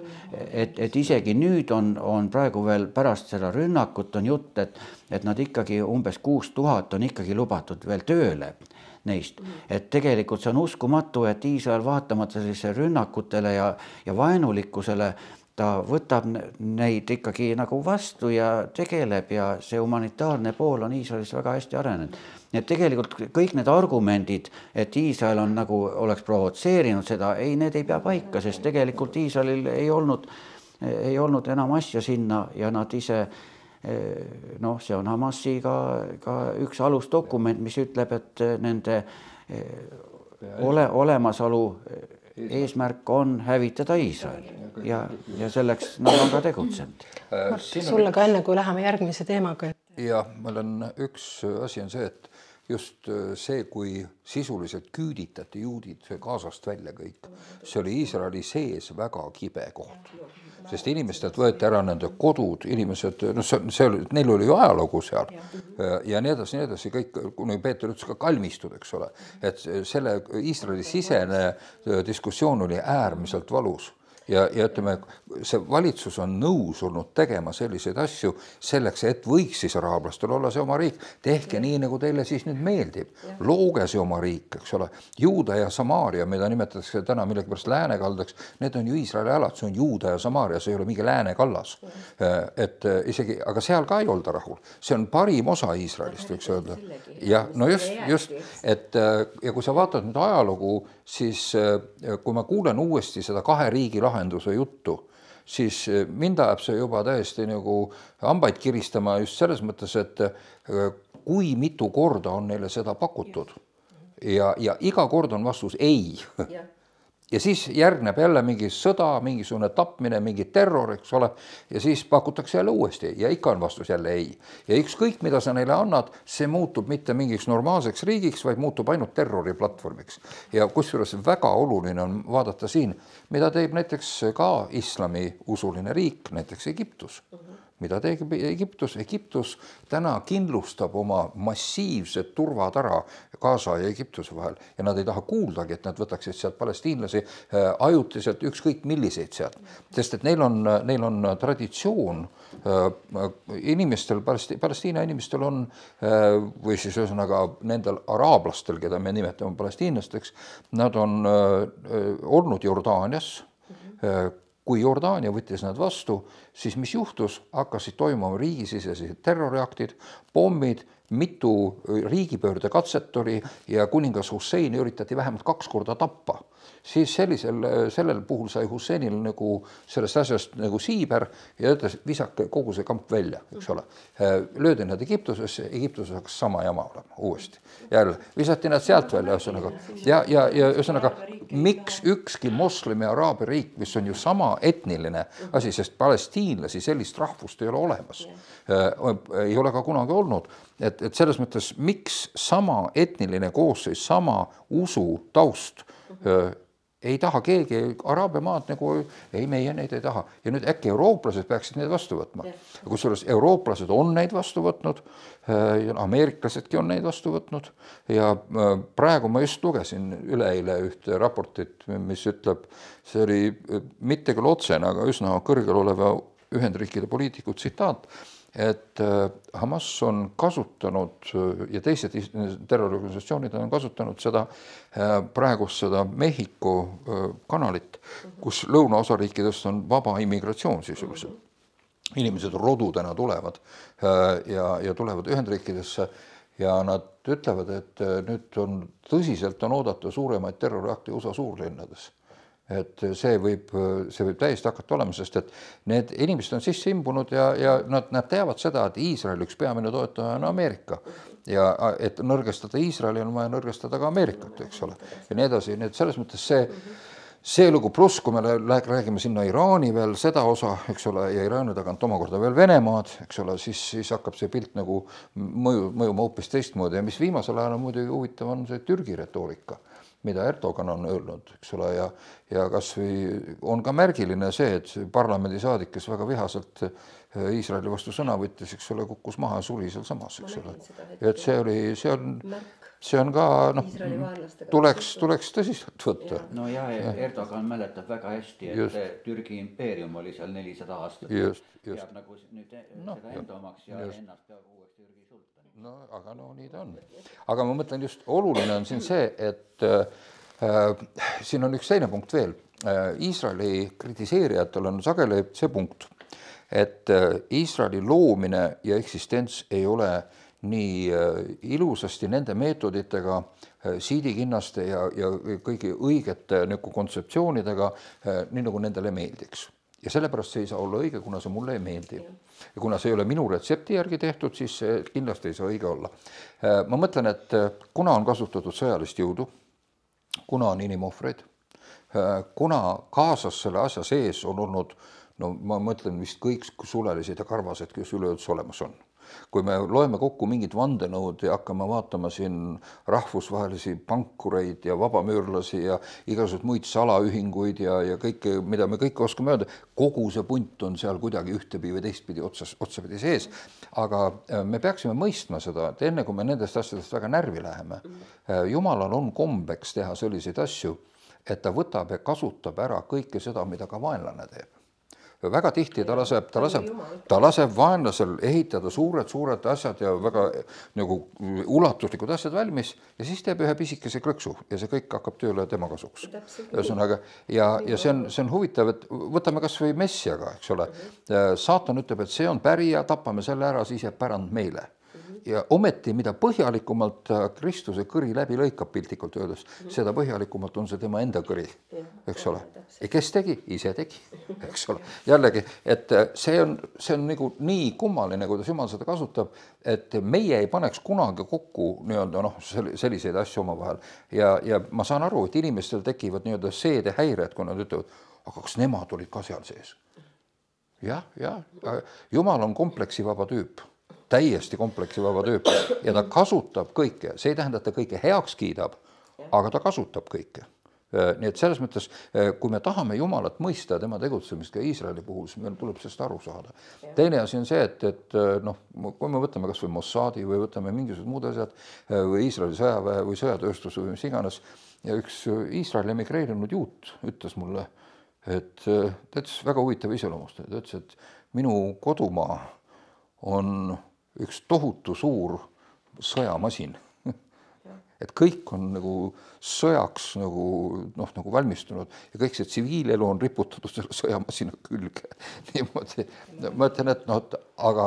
et, et isegi nüüd on, on praegu veel pärast seda rünnakut on jutt, et, et nad ikkagi umbes kuus tuhat on ikkagi lubatud veel tööle neist. Et tegelikult see on uskumatu, et Iisrael vaatamata sellise rünnakutele ja, ja vaenulikkusele ta võtab neid ikkagi nagu vastu ja tegeleb ja see humanitaarne pool on Iisraelis väga hästi arenenud. Nii et tegelikult kõik need argumendid, et Iisrael on nagu oleks provotseerinud seda, ei, need ei pea paika, sest tegelikult Iisraelil ei olnud, ei olnud enam asja sinna ja nad ise, noh, see on Hamasi ka, ka üks alusdokument, mis ütleb, et nende ole, olemasolu eesmärk on hävitada Iisrael ja, ja selleks nad on ka tegutsenud.
Sulle ka enne, kui läheme järgmise teemaga.
Ja meil on üks asi on see, et just see, kui sisuliselt küüditati juudid Gazast välja kõik, see oli Iisraeli sees väga kibe koht. Sest inimestelt võeti ära nende kodud, inimesed, no see, see oli, neil oli ju ajalugu seal ja, ja nii edasi, nii edasi, kõik, kuni Peeter ütles ka kalmistud, eks ole, et selle Iisraeli sisene diskussioon oli äärmiselt valus ja, ja ütleme, see valitsus on nõus olnud tegema selliseid asju selleks, et võiks siis araablastel olla see oma riik. Tehke ja. nii, nagu teile siis nüüd meeldib. Looge see oma riik, eks ole. Juuda ja Samaaria, mida nimetatakse täna millegipärast läänekaldaks, need on ju Iisraeli alad, see on Juuda ja Samaaria, see ei ole mingi läänekallas. Et isegi, aga seal ka ei olda rahul. See on parim osa Iisraelist, võiks öelda. Ja, no just, just, et ja kui sa vaatad nüüd ajalugu, siis kui ma kuulen uuesti seda kahe riigi lahenduse juttu, siis mind ajab see juba täiesti nagu hambaid kiristama just selles mõttes, et kui mitu korda on neile seda pakutud ja, ja iga kord on vastus ei. Ja siis järgneb jälle mingi sõda, mingisugune tapmine, mingi terror, eks ole, ja siis pakutakse jälle uuesti ja ikka on vastus jälle ei. Ja ükskõik, mida sa neile annad, see muutub mitte mingiks normaalseks riigiks, vaid muutub ainult terroriplatvormiks. Ja kusjuures väga oluline on vaadata siin, mida teeb näiteks ka islami usuline riik, näiteks Egiptus. Mida teeb Egiptus? Egiptus täna kindlustab oma massiivset turvatara Gaza ja Egiptuse vahel ja nad ei taha kuuldagi, et nad võtaksid sealt palestiinlasi ajutiselt ükskõik milliseid sealt. Sest et neil on, neil on traditsioon, inimestel, Palestiina inimestel on, või siis ühesõnaga nendel araablastel, keda me nimetame palestiinlasteks, nad on olnud Jordaanias. Kui Jordaania võttis nad vastu, siis mis juhtus? Hakkasid toimuma riigisisesed terroriaktid, pommid, mitu riigipöörde katset oli ja kuningas Husseini üritati vähemalt kaks korda tappa. Siis sellisel, sellel puhul sai Husseinil nagu sellest asjast nagu siiber ja ütles, visake kogu see kamp välja, eks ole. Löödi nad Egiptusesse, Egiptuses hakkas sama jama olema uuesti. Jälle, visati nad sealt välja, ühesõnaga. Ja, ja, ja ühesõnaga, miks ükski moslemi araabia riik, mis on ju sama etniline asi, sest palestiinlasi sellist rahvust ei ole olemas. Ei ole ka kunagi olnud. Et, et selles mõttes, miks sama etniline koosseis, sama usu taust ei taha keegi araabia maad nagu, ei meie neid ei taha. Ja nüüd äkki eurooplased peaksid neid vastu võtma. Kusjuures eurooplased on neid vastu võtnud, ja ameeriklasedki on neid vastu võtnud ja praegu ma just lugesin üleeile ühte raportit, mis ütleb, see oli mitte küll otsene, aga üsna kõrgel oleva Ühendriikide poliitiku tsitaat, et Hamas on kasutanud ja teised terroriorganisatsioonid on kasutanud seda praegust seda Mehhiko kanalit, kus lõunaosariikidest on vaba immigratsioon sisuliselt. Inimesed rodudena tulevad ja, ja tulevad Ühendriikidesse ja nad ütlevad, et nüüd on tõsiselt on oodata suuremaid terroriakte U S A suurlinnades. Et see võib, see võib täiesti hakata olema, sest et need inimesed on sisse imbunud ja, ja nad, nad teavad seda, et Iisrael üks peamine toetaja on Ameerika. Ja et nõrgestada Iisraeli on vaja nõrgestada ka Ameerikat, eks ole. Ja nii edasi, nii et selles mõttes see, see lugu pluss, kui me räägime sinna Iraani veel seda osa, eks ole, ja Iraani tagant omakorda veel Venemaad, eks ole, siis, siis hakkab see pilt nagu mõju, mõjuma hoopis teistmoodi ja mis viimasel ajal on muidugi huvitav on see Türgi retoorika, mida Erdogan on öelnud, eks ole, ja, ja kas või on ka märgiline see, et parlamendisaadik, kes väga vihaselt Iisraeli vastu sõna võttis, eks ole, kukkus maha ja suri seal samas, eks ole. Ja et see oli, see on, see on ka, noh, tuleks, tuleks tõsiselt võtta.
No ja, Erdogan mäletab väga hästi, et just. Türgi impeerium oli seal nelisada aastat.
Just, just.
Peab nagu nüüd no, seda enda omaks ja just. Ennast peab uueks Türgi sultani.
No, aga no nii ta on. Aga ma mõtlen just, oluline on siin see, et äh, siin on üks teine punkt veel. Äh, Iisraeli kritiseerijatel on sageli see punkt, et äh, Iisraeli loomine ja eksistents ei ole nii äh, ilusasti nende meetoditega, äh, siidikinnaste ja, ja kõigi õigete nagu kontseptsioonidega, äh, nii nagu nendele meeldiks. Ja sellepärast see ei saa olla õige, kuna see mulle ei meeldi. Ja kuna see ei ole minu retsepti järgi tehtud, siis see kindlasti ei saa õige olla. Ma mõtlen, et kuna on kasutatud sõjalist jõudu, kuna on inimohvreid, kuna kaasas selle asja sees on olnud, no ma mõtlen vist kõik sulelised ja karvased, kes üleüldse olemas on. Kui me loeme kokku mingid vandenõud ja hakkame vaatama siin rahvusvahelisi pankureid ja vabamüürlasi ja igasugused muid salaühinguid ja, ja kõike, mida me kõik oskame öelda, kogu see punt on seal kuidagi ühtepidi või teistpidi otsas, otsapidi sees. Aga me peaksime mõistma seda, et enne kui me nendest asjadest väga närvi läheme, Jumalal on kombeks teha selliseid asju, et ta võtab ja kasutab ära kõike seda, mida ka vaenlane teeb. Väga tihti ta laseb, ta laseb, ta laseb vaenlasel ehitada suured, suured asjad ja väga nagu ulatuslikud asjad valmis ja siis teeb ühe pisikese krõksu ja see kõik hakkab tööle tema kasuks. Ühesõnaga, ja, ja see on, see on huvitav, et võtame kas või Messiaga, eks ole. Saatan ütleb, et see on pärija, tapame selle ära, siis jääb pärand meile. Ja ometi, mida põhjalikumalt Kristuse kõri läbi lõikab piltlikult öeldes, seda põhjalikumalt on see tema enda kõri, eks ole. Ja kes tegi? Ise tegi, eks ole. Jällegi, et see on, see on nagu nii kummaline, kuidas Jumal seda kasutab, et meie ei paneks kunagi kokku nii-öelda noh, selliseid asju oma vahel. Ja, ja ma saan aru, et inimestel tekivad nii-öelda seedehäired, kui nad ütlevad, aga kas nemad olid ka seal sees? Jah, jah, Jumal on kompleksivaba tüüp. Täiesti kompleksivaba tüüp ja ta kasutab kõike, see ei tähenda, et ta kõike heaks kiidab, aga ta kasutab kõike. Nii et selles mõttes, kui me tahame Jumalat mõista ja tema tegutsemist ka Iisraeli puhul, siis meil tuleb sellest aru saada. Teine asi on see, et, et noh, kui me võtame kas või Mossadi või võtame mingisugused muud asjad või Iisraeli sõjaväe või sõjatööstus või mis iganes ja üks Iisraeli emigreerinud juut ütles mulle, et ta ütles väga huvitav iseloomust, ta ütles, et minu kodumaa on üks tohutu suur sõjamasin. Et kõik on nagu sõjaks nagu, noh, nagu valmistunud ja kõik see tsiviilelu on riputatud selle sõjamasina külge. Niimoodi. Ma ütlen, et noh, aga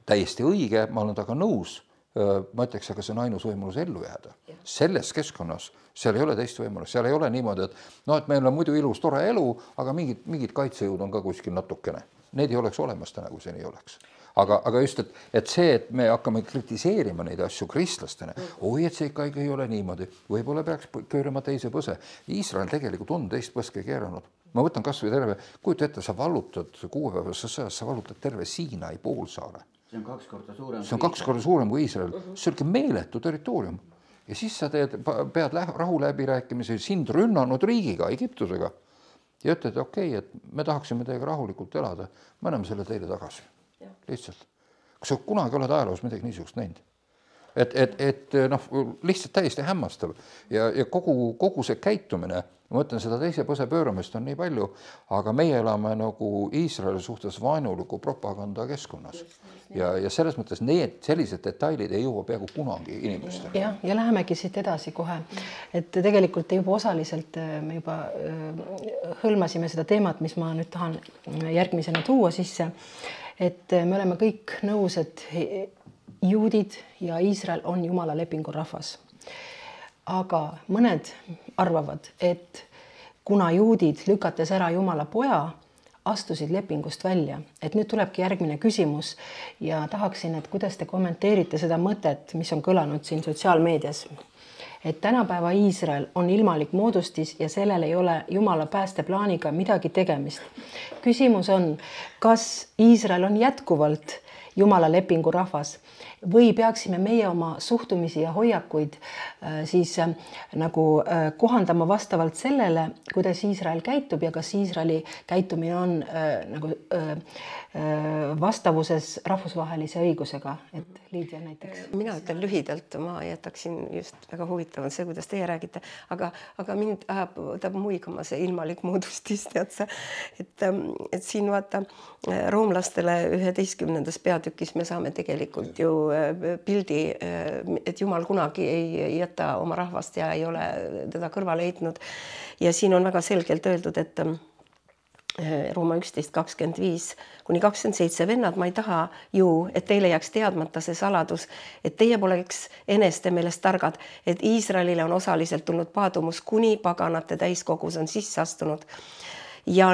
täiesti õige, ma olen taga nõus. Ma ütleks, aga see on ainus võimalus ellu jääda. Selles keskkonnas, seal ei ole teist võimalus. Seal ei ole niimoodi, et, no, et meil on muidu ilus tore elu, aga mingid, mingid kaitsejõud on ka kuskil natukene. Need ei oleks olemas täna, kui see nii oleks. Aga, aga just, et, et see, et me hakkame kritiseerima neid asju kristlastena, oi, et see ikka ei ole niimoodi, võib-olla peaks köörama teise põse. Iisrael tegelikult on teist põske keeranud. Ma võtan kas või terve, kujuta ette, sa vallutad kuuepäevasesse sõjas, sa vallutad terve Siinai poolsaare.
See on kaks korda suurem.
See on kaks korda suurem kui Iisrael. See on meeletu territoorium. Ja siis sa teed, pead rahu läbi rääkimise sind rünnanud riigiga, Egiptusega. Ja ütled, okei, okay, et me tahaksime teiega rahulikult elada, me anname selle teile tagasi. Lihtsalt. Kas sa kunagi oled ajaloos midagi niisugust näinud? Et, et, et noh, lihtsalt täiesti hämmastav ja, ja kogu, kogu see käitumine, ma mõtlen, seda teise põse pööramist on nii palju, aga meie elame nagu Iisraeli suhtes vaenuliku propaganda keskkonnas. Ja, ja selles mõttes need sellised detailid ei jõua peaaegu kunagi inimestele.
Ja, ja lähemegi siit edasi kohe, et tegelikult juba osaliselt me juba hõlmasime seda teemat, mis ma nüüd tahan järgmisena tuua sisse, et me oleme kõik nõus, et juudid ja Iisrael on Jumala lepingu rahvas. Aga mõned arvavad, et kuna juudid lükates ära Jumala poja, astusid lepingust välja. Et nüüd tulebki järgmine küsimus ja tahaksin, et kuidas te kommenteerite seda mõtet, mis on kõlanud siin sotsiaalmeedias. Et tänapäeva Iisrael on ilmalik moodustis ja sellel ei ole Jumala päästeplaaniga midagi tegemist. Küsimus on, kas Iisrael on jätkuvalt Jumala lepingu rahvas või peaksime meie oma suhtumisi ja hoiakuid äh, siis äh, nagu äh, kohandama vastavalt sellele, kuidas Iisrael käitub ja kas Iisraeli käitumine on äh, nagu äh, äh, vastavuses rahvusvahelise õigusega, et Liidia näiteks.
Mina ütlen lühidalt, ma jätaksin just väga huvitav see, kuidas teie räägite, aga, aga mind ajab, tahab muigama see ilmalik moodustis, tead sa, et, et siin vaata roomlastele üheteistkümnendas peatükis me saame tegelikult ju pildi, et Jumal kunagi ei jäta oma rahvast ja ei ole teda kõrvale heitnud. Ja siin on väga selgelt öeldud, et Rooma üksteist kakskümmend viis kuni kakskümmend seitse vennad, ma ei taha ju, et teile jääks teadmata see saladus, et teie poleks eneste meelest targad, et Iisraelile on osaliselt tulnud paadumus, kuni paganate täiskogus on sisse astunud. Ja,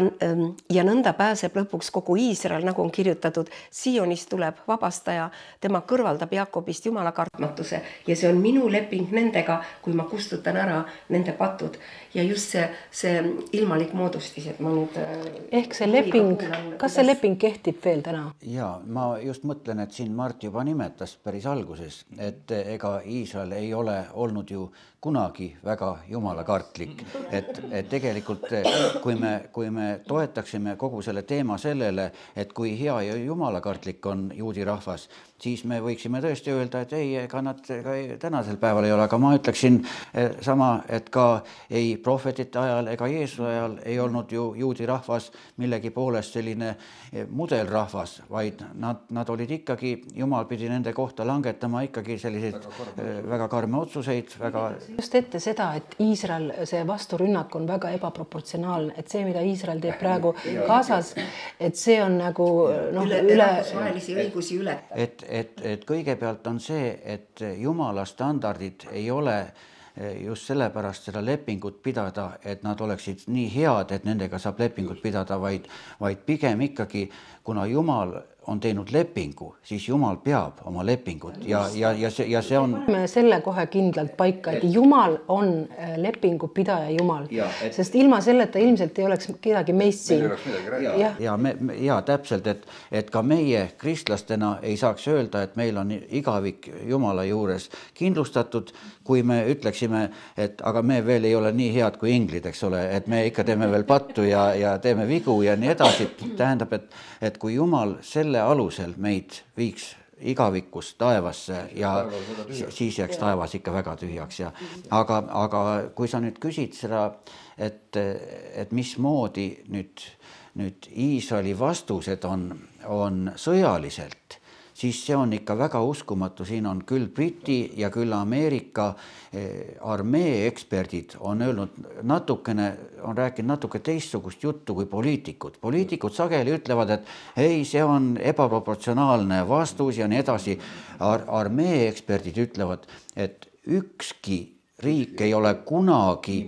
ja nõnda pääseb lõpuks kogu Iisrael, nagu on kirjutatud, Sionist tuleb vabastaja, tema kõrvaldab Jakobist Jumala kartmatuse ja see on minu leping nendega, kui ma kustutan ära nende patud. Ja just see, see ilmalik moodustis, et ma nüüd...
Ehk see leping, kas see leping kehtib veel täna?
Ja, ma just mõtlen, et siin Mart juba nimetas päris alguses, et ega Iisrael ei ole olnud ju kunagi väga jumalakartlik, et, et tegelikult kui me kui me toetaksime kogu selle teema sellele, et kui hea ja jumalakartlik on juudi rahvas, siis me võiksime tõesti öelda, et ei, ega nad ka tänasel päeval ei ole, aga ma ütleksin sama, et ka ei prohvetite ajal ega Jeesuse ajal ei olnud ju juudi rahvas millegi poolest selline mudelrahvas, vaid nad, nad olid ikkagi, Jumal pidi nende kohta langetama ikkagi selliseid väga karme, väga karme otsuseid. Väga...
Just ette seda, et Iisrael, see vasturünnak on väga ebaproportsionaalne, et see, mida Iisrael teeb praegu Gazas, et see on nagu noh, üle, üle...
rahvusvahelisi õigusi ületab.
Et Et, et kõigepealt on see, et Jumala standardid ei ole just sellepärast seda lepingut pidada, et nad oleksid nii head, et nendega saab lepingut pidada, vaid, vaid pigem ikkagi, kuna Jumal on teinud lepingu, siis Jumal peab oma lepingut ja, ja, ja, see, ja see on...
Me selle kohe kindlalt paika, et Jumal on lepingu pidaja Jumal, ja, et... sest ilma selleta ilmselt ei oleks kedagi meist siin.
Ja, ja, me, ja täpselt, et, et ka meie kristlastena ei saaks öelda, et meil on igavik Jumala juures kindlustatud, kui me ütleksime, et aga me veel ei ole nii head kui inglid, eks ole, et me ikka teeme veel pattu ja, ja teeme vigu ja nii edasi. Tähendab, et, et kui Jumal selle alusel meid viiks igavikus taevasse ja siis jääks taevas ikka väga tühjaks. Ja, aga, aga kui sa nüüd küsid seda, et, et mismoodi nüüd, nüüd Iisraeli vastused on, on sõjaliselt, siis see on ikka väga uskumatu. Siin on küll Briti ja küll Ameerika armee eksperdid on öelnud natukene, on rääkinud natuke teistsugust juttu kui poliitikud. Poliitikud sageli ütlevad, et ei, see on ebaproportsionaalne vastus ja nii edasi. Ar- armee eksperdid ütlevad, et ükski riik ei ole kunagi,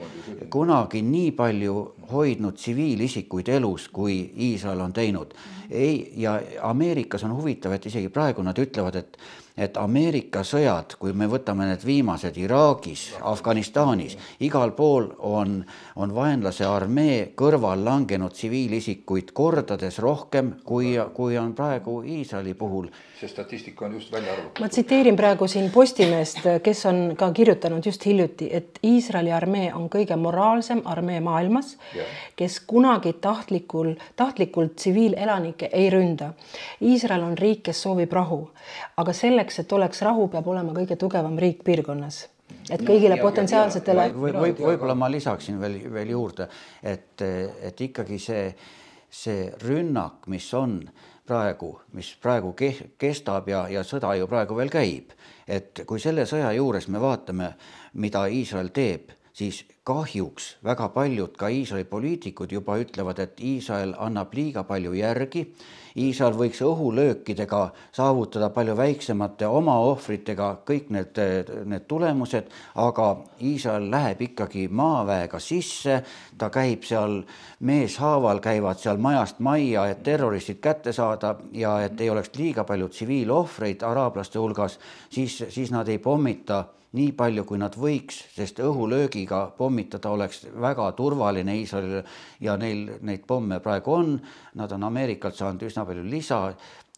kunagi nii palju hoidnud tsiviilisikuid elus, kui Iisrael on teinud. Ei, ja Ameerikas on huvitav, et isegi praegu nad ütlevad, et, et Ameerika sõjad, kui me võtame need viimased Iraagis, Afganistanis, igal pool on, on vaenlase armee kõrval langenud tsiviilisikuid kordades rohkem, kui, kui on praegu Iisraeli puhul.
See statistika on just välja arvatud.
Ma tsiteerin praegu siin Postimeest, kes on ka kirjutanud just hiljuti, et Iisraeli armee on kõige moraalsem armee maailmas, ja. Kes kunagi tahtlikul, tahtlikult tsiviilelanike ei ründa. Iisrael on riik, kes soovib rahu, aga selleks, et oleks rahu, peab olema kõige tugevam riik piirkonnas. Et kõigile ja, potentsiaalsetele...
Või, või, võib-olla ma lisaksin veel, veel juurde, et, et ikkagi see, see rünnak, mis on praegu, mis praegu kestab ja, ja sõda ju praegu veel käib, et kui selle sõja juures me vaatame, mida Iisrael teeb, siis kahjuks väga paljud ka Iisraeli poliitikud juba ütlevad, et Iisrael annab liiga palju järgi. Iisrael võiks õhulöökidega saavutada palju väiksemate oma ohvritega kõik need, need tulemused, aga Iisrael läheb ikkagi maaväega sisse, ta käib seal meeshaaval, käivad seal majast majja, et terroristid kätte saada ja et ei oleks liiga palju tsiviilohvreid araablaste hulgas, siis, siis nad ei pommita nii palju, kui nad võiks, sest õhulöögiga pommitada oleks väga turvaline Iisraelile ja neil neid pomme praegu on. Nad on Ameerikalt saanud üsna palju lisa.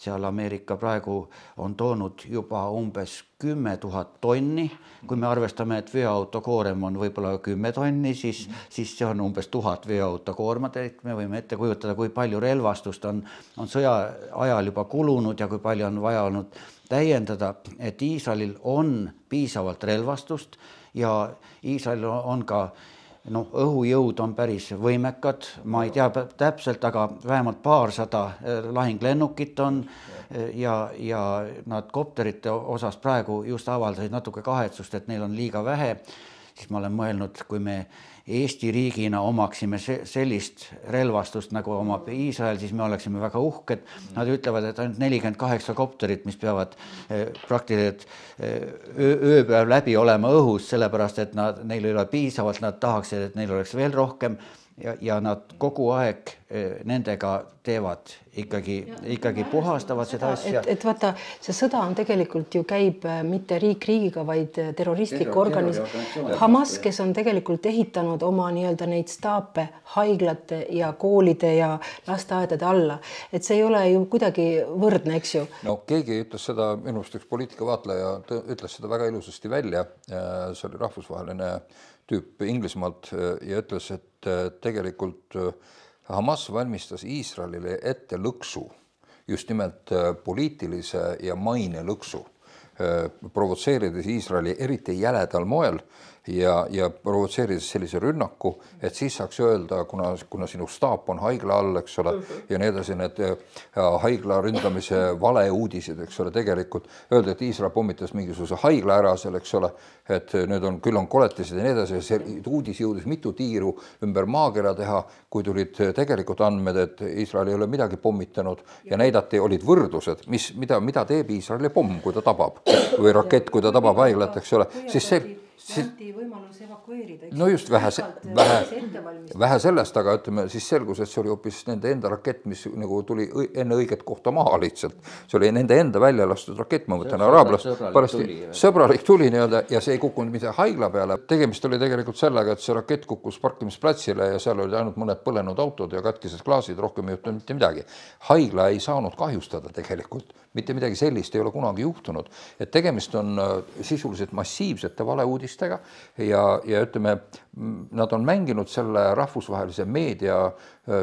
Seal Ameerika praegu on toonud juba umbes kümme tuhat tonni. Kui me arvestame, et veoauto koorem on võib-olla kümme tonni, siis, siis see on umbes tuhat veoauto koormat. Me võime ette kujutada, kui palju relvastust on, on sõja ajal juba kulunud ja kui palju on vaja olnud täiendada, et Iisraelil on piisavalt relvastust ja Iisraelil on ka no, õhujõud on päris võimekad, ma ei tea täpselt, aga vähemalt paarsada lahinglennukit on ja, ja nad kopterite osas praegu just avaldasid natuke kahetsust, et neil on liiga vähe, siis ma olen mõelnud, kui me Eesti riigina omaksime sellist relvastust nagu omab Iisrael, siis me oleksime väga uhked. Nad ütlevad, et ainult nelikümmend kaheksa kopterit, mis peavad praktiliselt ööpäev läbi olema õhus, sellepärast, et nad, neil ei ole piisavalt, nad tahaksid, et neil oleks veel rohkem ja, ja nad kogu aeg nendega teevad ikkagi, ikkagi puhastavad seda asja.
Et, et vaata, see sõda on tegelikult ju käib mitte riik riigiga, vaid terroristlik organis. Hamas, kes on tegelikult ehitanud oma nii-öelda neid staape haiglate ja koolide ja lasteaedade alla. Et see ei ole ju kuidagi võrdne, eks ju?
No keegi ütles seda, minust üks poliitikavaatleja ütles seda väga ilusasti välja. See oli rahvusvaheline tüüp Inglismaalt ja ütles, et tegelikult Hamas valmistas Iisraelile ette lõksu, just nimelt poliitilise ja maine lõksu, provotseerides Iisraeli eriti jäledal moel ja, ja provotseerides sellise rünnaku, et siis saaks öelda, kuna, kuna sinu staap on haigla all, eks ole, ja nii edasi, need haigla ründamise valeuudised, eks ole, tegelikult öelda, et Iisrael pommitas mingisuguse haigla ära seal, eks ole, et need on, küll on koletised ja nii edasi, see uudis jõudis mitu tiiru ümber maakera teha, kui tulid tegelikult andmed, et Iisrael ei ole midagi pommitanud ja näidati, olid võrdlused, mis, mida, mida teeb Iisraeli pomm, kui ta tabab, või rakett, kui ta tabab haiglat, eks ole, siis see
anti võimalus evakueerida.
No just vähe, vähe, vähe sellest, aga ütleme, siis selgus, et see oli hoopis nende enda rakett, mis nagu tuli enne õiget kohta maha lihtsalt. See oli nende enda välja lastud rakett, ma mõtlen, araablast, parasti sõbralik tuli nii-öelda ja see ei kukkunud mitte haigla peale. Tegemist oli tegelikult sellega, et see rakett kukkus parkimisplatsile ja seal oli ainult mõned põlenud autod ja katkised klaasid, rohkem ei juhtunud mitte midagi. Haigla ei saanud kahjustada tegelikult, mitte midagi sellist ei ole kunagi juhtunud, et tegemist on sisuliselt massiivsete valeuudistega ja, ja ütleme, nad on mänginud selle rahvusvahelise meedia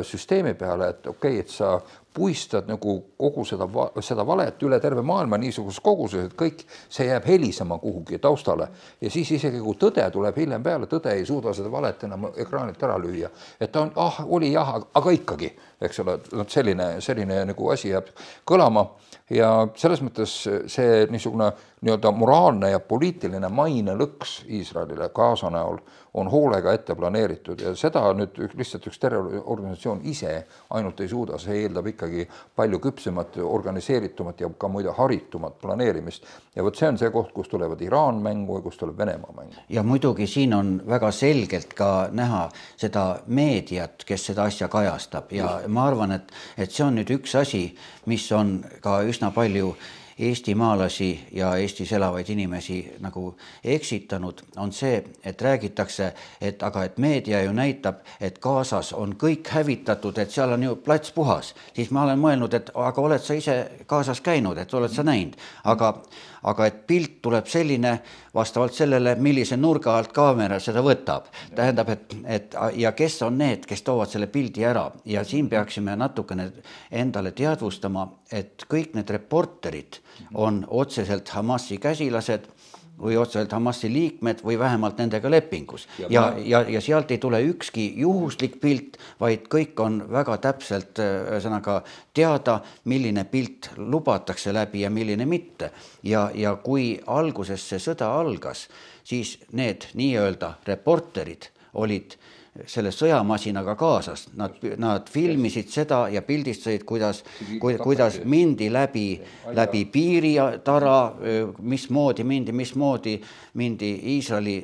süsteemi peale, et okei, okay, et sa puistad nagu kogu seda, seda valet üle terve maailma niisuguses koguses, et kõik see jääb helisema kuhugi taustale ja siis isegi kui tõde tuleb hiljem peale, tõde ei suuda seda valet enam ekraanilt ära lüüa, et ta on, ah, oli jah, aga ikkagi, eks ole, selline, selline nagu asi jääb kõlama ja selles mõttes see niisugune nii-öelda moraalne ja poliitiline maine lõks Iisraelile Gaza näol on hoolega ette planeeritud ja seda nüüd lihtsalt üks terroriorganisatsioon ise ainult ei suuda, see eeldab ikkagi palju küpsemat, organiseeritumat ja ka muide haritumat planeerimist. Ja võt see on see koht, kus tulevad Iraan mängu ja kus tuleb Venemaa mängu.
Ja muidugi siin on väga selgelt ka näha seda meediat, kes seda asja kajastab ja ma arvan, et, et see on nüüd üks asi, mis on ka üsna palju Eesti maalasi ja Eestis elavaid inimesi nagu eksitanud, on see, et räägitakse, et aga et meedia ju näitab, et Gazas on kõik hävitatud, et seal on ju plats puhas. Siis ma olen mõelnud, et aga oled sa ise Gazas käinud, et oled sa näinud, aga aga et pilt tuleb selline vastavalt sellele, millise nurga alt kaamera seda võtab. Tähendab, et, et ja kes on need, kes toovad selle pildi ära ja siin peaksime natukene endale teadvustama, et kõik need reporterid on otseselt Hamasi käsilased või otseselt Hamasi liikmed või vähemalt nendega lepingus. Ja, ja, ja sealt ei tule ükski juhuslik pilt, vaid kõik on väga täpselt ühesõnaga teada, milline pilt lubatakse läbi ja milline mitte. Ja, ja kui alguses see sõda algas, siis need nii-öelda reporterid olid selle sõjamasinaga kaasas. Nad, nad filmisid seda ja pildistasid, kuidas, kuidas mindi läbi, läbi piiritara, mismoodi mindi, mismoodi mindi Iisraeli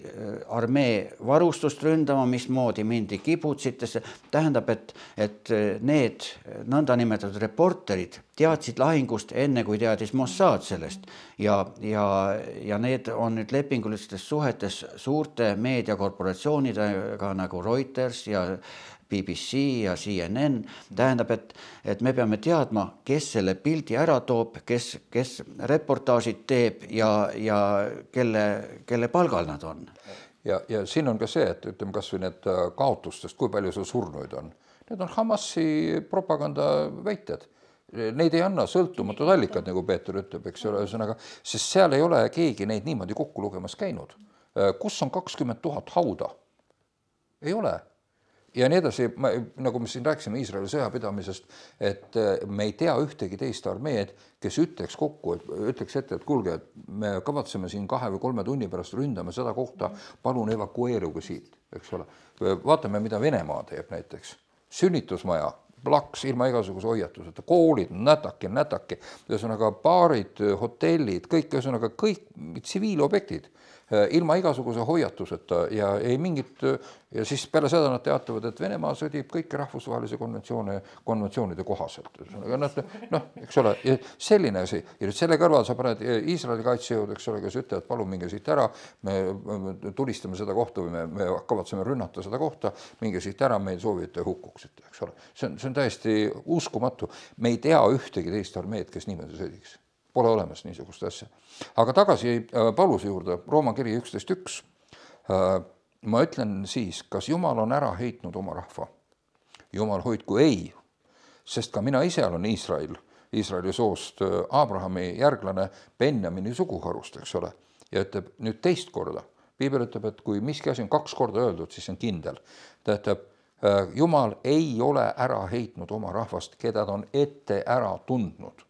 armee varustust ründama, mismoodi mindi kibutsitesse. Tähendab, et, et need nõndanimetatud reporterid teadsid lahingust enne, kui teadis Mossad sellest. Ja, ja, ja need on nüüd lepingulistes suhetes suurte meediakorporatsioonidega nagu Reuters ja B B C ja C N N. Tähendab, et, et me peame teadma, kes selle pildi ära toob, kes, kes reportaažid teeb ja, ja kelle, kelle palgal nad on.
Ja, ja siin on ka see, et ütleme kas või need kaotustest, kui palju see surnuid on. Need on Hamasi propaganda väited. Neid ei anna sõltumatud allikad, nagu Peeter ütleb, eks ole, ühesõnaga, sest seal ei ole keegi neid niimoodi kokku lugemas käinud. Kus on kakskümmend tuhat hauda? Ei ole. Ja nii edasi, nagu me siin rääkisime Iisraeli sõjapidamisest, et me ei tea ühtegi teist armeed, kes ütleks kokku, et ütleks ette, et kuulge, et me kavatseme siin kahe või kolme tunni pärast ründame seda kohta, palun evakueeruge siit, eks ole. Vaatame, mida Venemaa teeb näiteks. Sünnitusmaja, plaks ilma igasuguse hoiatuseta, koolid, nätaki, nätaki, ühesõnaga baarid, hotellid, kõik, ühesõnaga kõik tsiviilobjektid ilma igasuguse hoiatuseta ja ei mingit, ja siis peale seda nad teatavad, et Venemaa sõdib kõiki rahvusvahelise konventsioone, konventsioonide kohaselt. Noh, noh, eks ole, selline asi. Ja nüüd selle kõrval sa paned Iisraeli kaitsejõud, eks ole, kes ütlevad, palun minge siit ära, me tulistame seda kohta või me, me kavatseme rünnata seda kohta, minge siit ära, me ei soovi, et te hukkuksite, eks ole. See on, see on täiesti uskumatu. Me ei tea ühtegi teist armeed, kes niimoodi sõdiks. Pole olemas niisugust asja. Aga tagasi Pauluse juurde, Rooma kiri üksteist üks. Ma ütlen siis, kas Jumal on ära heitnud oma rahva? Jumal hoidku ei, sest ka mina ise olen Iisrael, Iisraeli soost Abrahami järglane Benjamini suguharust, eks ole, ja ütleb nüüd teist korda. Piibel ütleb, et kui miski asi on kaks korda öeldud, siis on kindel. Ta ütleb, Jumal ei ole ära heitnud oma rahvast, keda ta on ette ära tundnud.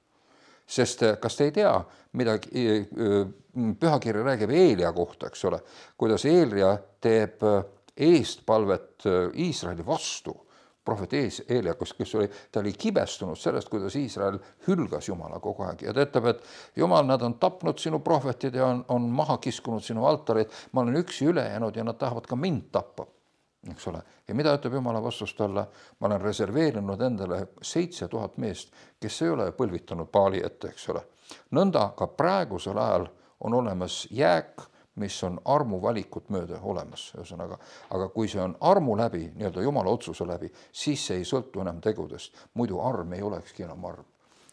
Sest kas te ei tea, mida pühakiri räägib Eelia kohta, eks ole, kuidas Eelia teeb eestpalvet Iisraeli vastu, prohvet Eelia, kes oli, ta oli kibestunud sellest, kuidas Iisrael hülgas Jumala kogu aeg ja ta ütleb, et Jumal, nad on tapnud sinu prohvetid ja on, on maha kiskunud sinu altarid, ma olen üksi üle jäänud ja nad tahavad ka mind tappa, eks ole. Ja mida ütleb Jumala vastust talle? Ma olen reserveerinud endale seitse tuhat meest, kes ei ole põlvitanud paali ette, eks ole. Nõnda ka praegusel ajal on olemas jääk, mis on armu valikut mööda olemas. Ühesõnaga. Aga kui see on armu läbi, nii-öelda Jumala otsuse läbi, siis see ei sõltu enam tegudest. Muidu arm ei olekski enam arm.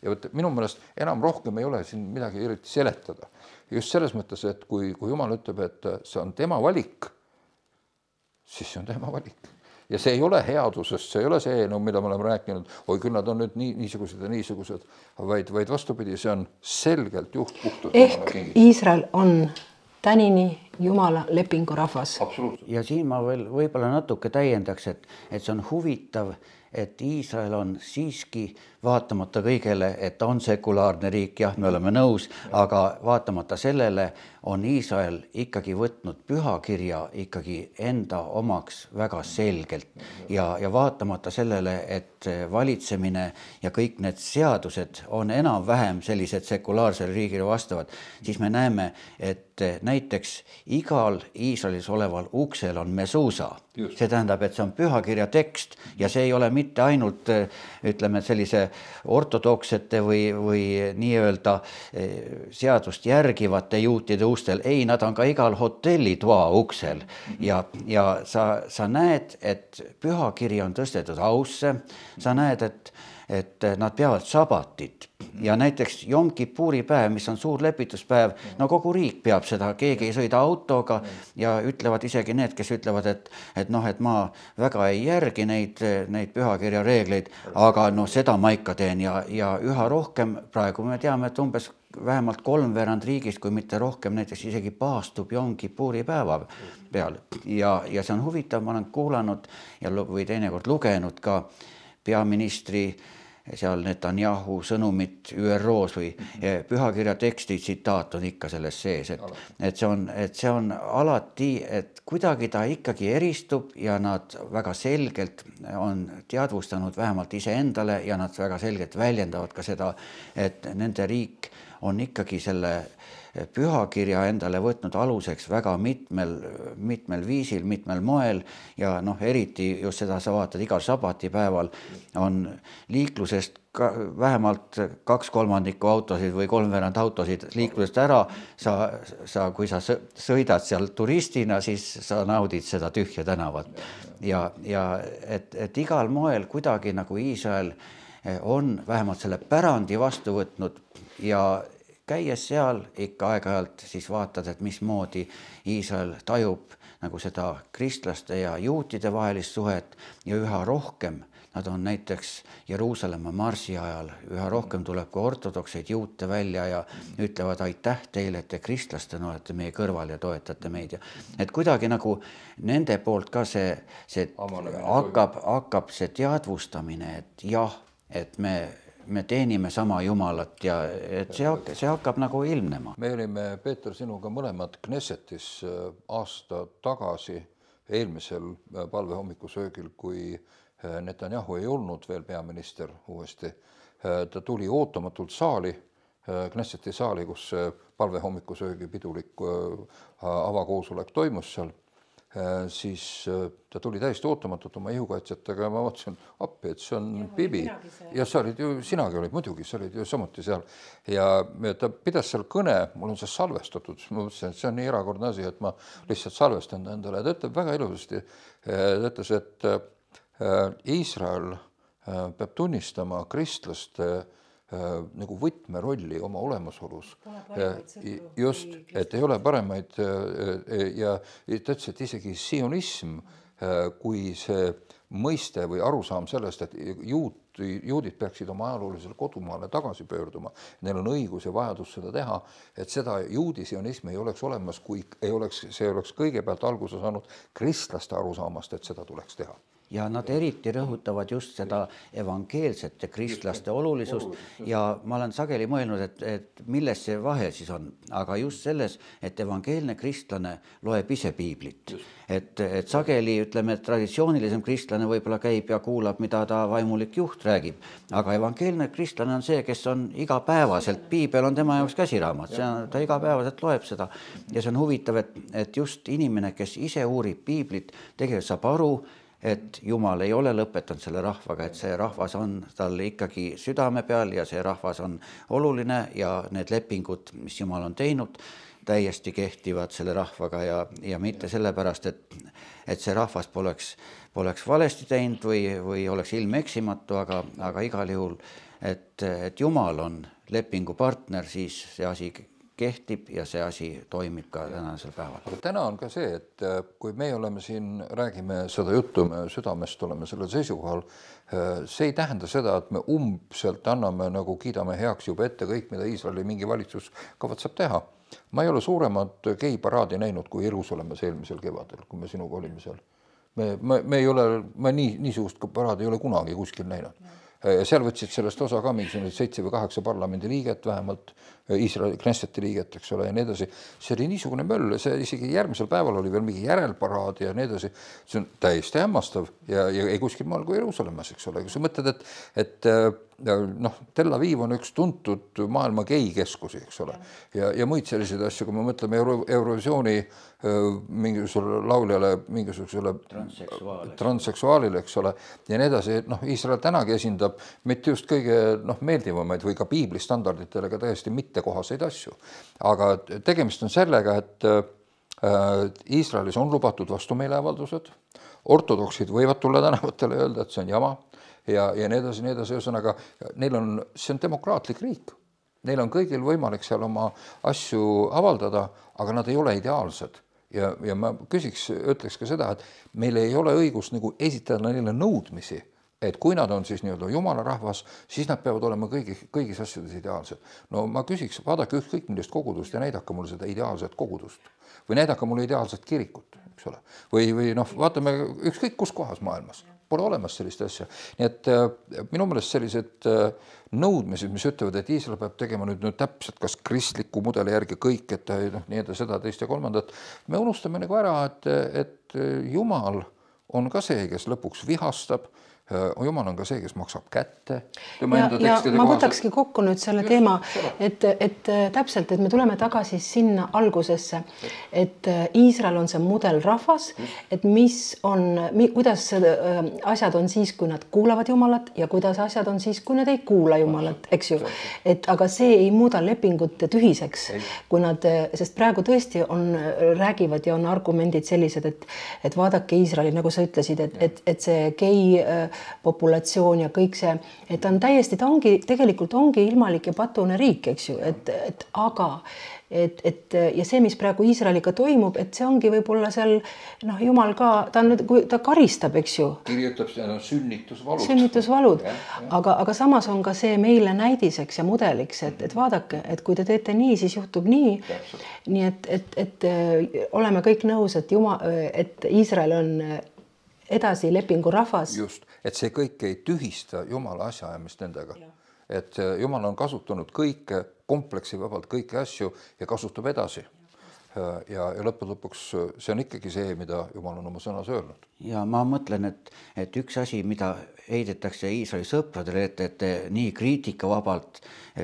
Ja võt, minu meelest enam rohkem ei ole siin midagi eriti seletada. Just selles mõttes, et kui, kui Jumal ütleb, et see on tema valik, siis see on tema valik. Ja see ei ole headusest, see ei ole see eelnõu, mida me oleme rääkinud, oi küll nad on nüüd nii, niisugused ja niisugused, vaid, vaid vastupidi, see on selgelt juht puhtalt.
Ehk Iisrael on tänini Jumala lepingu rahvas.
Absoluutselt.
Ja siin ma veel võib-olla natuke täiendaks, et, et see on huvitav, et Iisrael on siiski vaatamata kõigele, et ta on sekulaarne riik, jah, me oleme nõus, aga vaatamata sellele on Iisrael ikkagi võtnud pühakirja ikkagi enda omaks väga selgelt ja, ja vaatamata sellele, et valitsemine ja kõik need seadused on enam-vähem sellised sekulaarsele riigile vastavad, siis me näeme, et näiteks igal Iisraelis oleval uksel on mesuusa. Just. See tähendab, et see on pühakirja tekst ja see ei ole mitte ainult, ütleme, sellise ortodoksete või, või nii-öelda seadust järgivate juutide ustel. Ei, nad on ka igal hotellitoa uksel ja, ja sa, sa näed, et pühakiri on tõstetud ausse, sa näed, et et nad peavad sabatit ja näiteks Jom Kippuri päev, mis on suur lepituspäev, no kogu riik peab seda, keegi ei sõida autoga ja ütlevad isegi need, kes ütlevad, et, et noh, et ma väga ei järgi neid, neid pühakirja reegleid, aga no seda ma ikka teen ja, ja üha rohkem praegu me teame, et umbes vähemalt kolmveerand riigist, kui mitte rohkem, näiteks isegi paastub Jom Kippuri päeva peal ja, ja see on huvitav, ma olen kuulanud ja, või teinekord lugenud ka peaministri seal Netanyahu sõnumit Ü R O's või pühakirja teksti tsitaat on ikka selles sees, et, et, see on, et see on alati, et kuidagi ta ikkagi eristub ja nad väga selgelt on teadvustanud vähemalt iseendale ja nad väga selgelt väljendavad ka seda, et nende riik on ikkagi selle pühakirja endale võtnud aluseks väga mitmel, mitmel viisil, mitmel moel ja noh, eriti just seda sa vaatad igal sabatipäeval on liiklusest ka, vähemalt kaks kolmandikku autosid või kolmveerand autosid liiklusest ära. Sa, sa, kui sa sõidad seal turistina, siis sa naudid seda tühja tänavat ja, ja et, et igal moel kuidagi nagu Iisrael on vähemalt selle pärandi vastu võtnud ja käies seal ikka aeg-ajalt siis vaatad, et mismoodi Iisrael tajub nagu seda kristlaste ja juutide vahelist suhet ja üha rohkem nad on näiteks Jeruusalemma marsi ajal, üha rohkem tuleb ka ortodokseid juute välja ja ütlevad aitäh teile, et te kristlastena olete meie kõrval ja toetate meid. Et kuidagi nagu nende poolt ka see, see hakkab, hakkab see teadvustamine, et jah, et me me teenime sama Jumalat ja et see, see hakkab nagu ilmnema.
Me olime, Peeter, sinuga mõlemad Knessetis aasta tagasi eelmisel palvehommikusöögil, kui Netanyahu ei olnud veel peaminister uuesti. Ta tuli ootamatult saali, Knesseti saali, kus palvehommikusöögi pidulik avakoosolek toimus seal. Siis ta tuli täiesti ootamatult oma ihukaitsetega ja ma vaatasin appi, et see on ja, Bibi. Ja sa olid ju, sinagi olid muidugi, sa olid ju samuti seal. Ja ta pidas seal kõne, mul on see salvestatud, ma mõtlesin, et see on nii erakordne asi, et ma lihtsalt salvestan endale. Ta ütleb väga ilusasti, ta ütles, et Iisrael peab tunnistama kristlaste nagu võtmerolli oma olemasolus. Just, et ei ole paremaid ja ta ütles, et isegi sionism, kui see mõiste või arusaam sellest, et juut, juudid peaksid oma ajaloolisele kodumaale tagasi pöörduma, neil on õigus ja vajadus seda teha, et seda juudi sionismi ei oleks olemas, kui ei oleks, see oleks kõigepealt alguse saanud kristlaste arusaamast, et seda tuleks teha.
Ja nad eriti rõhutavad just seda evangeelsete kristlaste olulisust ja ma olen sageli mõelnud, et, et milles see vahe siis on, aga just selles, et evangeelne kristlane loeb ise piiblit. Et, et sageli, ütleme, et traditsioonilisem kristlane võib-olla käib ja kuulab, mida ta vaimulik juht räägib, aga evangeelne kristlane on see, kes on igapäevaselt, piibel on tema jaoks käsiraamat, see on, ta igapäevaselt loeb seda ja see on huvitav, et, et just inimene, kes ise uurib piiblit, tegelikult saab aru, et Jumal ei ole lõpetanud selle rahvaga, et see rahvas on tal ikkagi südame peal ja see rahvas on oluline ja need lepingud, mis Jumal on teinud, täiesti kehtivad selle rahvaga ja, ja mitte sellepärast, et, et see rahvas poleks, poleks valesti teinud või, või oleks ilmeksimatu, aga, aga igal juhul, et, et Jumal on lepingupartner, siis see asi kehtib ja see asi toimib ka tänasel päeval.
Aga täna on ka see, et kui me oleme siin, räägime seda juttu, me südamest oleme sellel seisukohal, see ei tähenda seda, et me umbselt anname, nagu kiidame heaks juba ette kõik, mida Iisraeli mingi valitsus kavatseb teha. Ma ei ole suuremat geiparaadi näinud kui Jeruusalemmas eelmisel kevadel, kui me sinuga olime seal. Me, me, me ei ole, ma nii, niisugust paraadi ei ole kunagi kuskil näinud. Ja seal võtsid sellest osa ka mingi seitse või kaheksa parlamendi liiget, vähemalt Iisraeli Knesseti liiget, eks ole, ja nii edasi. See oli niisugune möll, see isegi järgmisel päeval oli veel mingi järelparaad ja nii edasi. See on täiesti hämmastav ja, ja ei kuskil maal kui Jeruusalemmas, eks ole. Kui sa mõtled, et, et noh, Tel Aviv on üks tuntud maailma geikeskusi, eks ole, ja, ja muid selliseid asju, kui me mõtleme Euro, Eurovisiooni mingisugusele lauljale, mingisugusele
transseksuaalile.
transseksuaalile, eks ole, ja nii edasi, noh, Iisrael tänagi esindab mitte just kõige noh, meeldivamaid või ka piibli standarditele ka täiesti mittekohaseid asju. Aga tegemist on sellega, et äh, Iisraelis on lubatud vastumeeleavaldused, ortodoksid võivad tulla tänavatele ja öelda, et see on jama ja, ja nii edasi, nii edasi, ühesõnaga neil on, see on demokraatlik riik. Neil on kõigil võimalik seal oma asju avaldada, aga nad ei ole ideaalsed. Ja, ja ma küsiks, ütleks ka seda, et meil ei ole õigus nagu esitada neile nõudmisi, et kui nad on siis nii-öelda Jumala rahvas, siis nad peavad olema kõigi, kõigis asjades ideaalsed. No ma küsiks, vaadake ükskõik millist kogudust ja näidake mulle seda ideaalset kogudust või näidake mulle ideaalset kirikut, eks ole. Või, või noh, vaatame ükskõik kus kohas maailmas. Pole olemas sellist asja. Nii et äh, minu meelest sellised äh, nõudmised, mis ütlevad, et Iisrael peab tegema nüüd, nüüd täpselt kas kristliku mudeli järgi kõik, et noh, nii edasi seda, teist ja kolmandat. Me unustame nagu ära, et, et Jumal on ka see, kes lõpuks vihastab. Jumal on ka see, kes maksab kätte.
Ja, ja ma võtakski kokku nüüd selle teema, et, et täpselt, et me tuleme tagasi sinna algusesse, et Iisrael on see mudelrahvas, et mis on, kuidas asjad on siis, kui nad kuulavad Jumalat ja kuidas asjad on siis, kui nad ei kuula Jumalat, eks ju. Et, aga see ei muuda lepingut tühiseks, kui nad, sest praegu tõesti on, räägivad ja on argumendid sellised, et, et vaadake Iisraeli, nagu sa ütlesid, et, et, et see gei populatsioon ja kõik see, et ta on täiesti, ta ongi, tegelikult ongi ilmalik ja patune riik, eks ju, et, et aga, et, et ja see, mis praegu Iisraeliga toimub, et see ongi võib-olla seal, noh, Jumal ka, ta on nüüd, kui ta karistab, eks ju.
Kirjutab seda sünnitusvalud.
Sünnitusvalud, aga, aga samas on ka see meile näidiseks ja mudeliks, et, et vaadake, et kui te teete nii, siis juhtub nii. Nii et, et, et oleme kõik nõus, et Jumal, et Iisrael on edasi lepingu rahvas.
Just, et see kõik ei tühista Jumala asjaajamist nendega. Ja. Et Jumal on kasutanud kõike kompleksi vabalt kõiki asju ja kasutab edasi. Ja, ja lõppude lõpuks see on ikkagi see, mida Jumal on oma sõnas öelnud.
Ja ma mõtlen, et, et üks asi, mida heidetakse Iisraeli sõpradele, et, et nii kriitikavabalt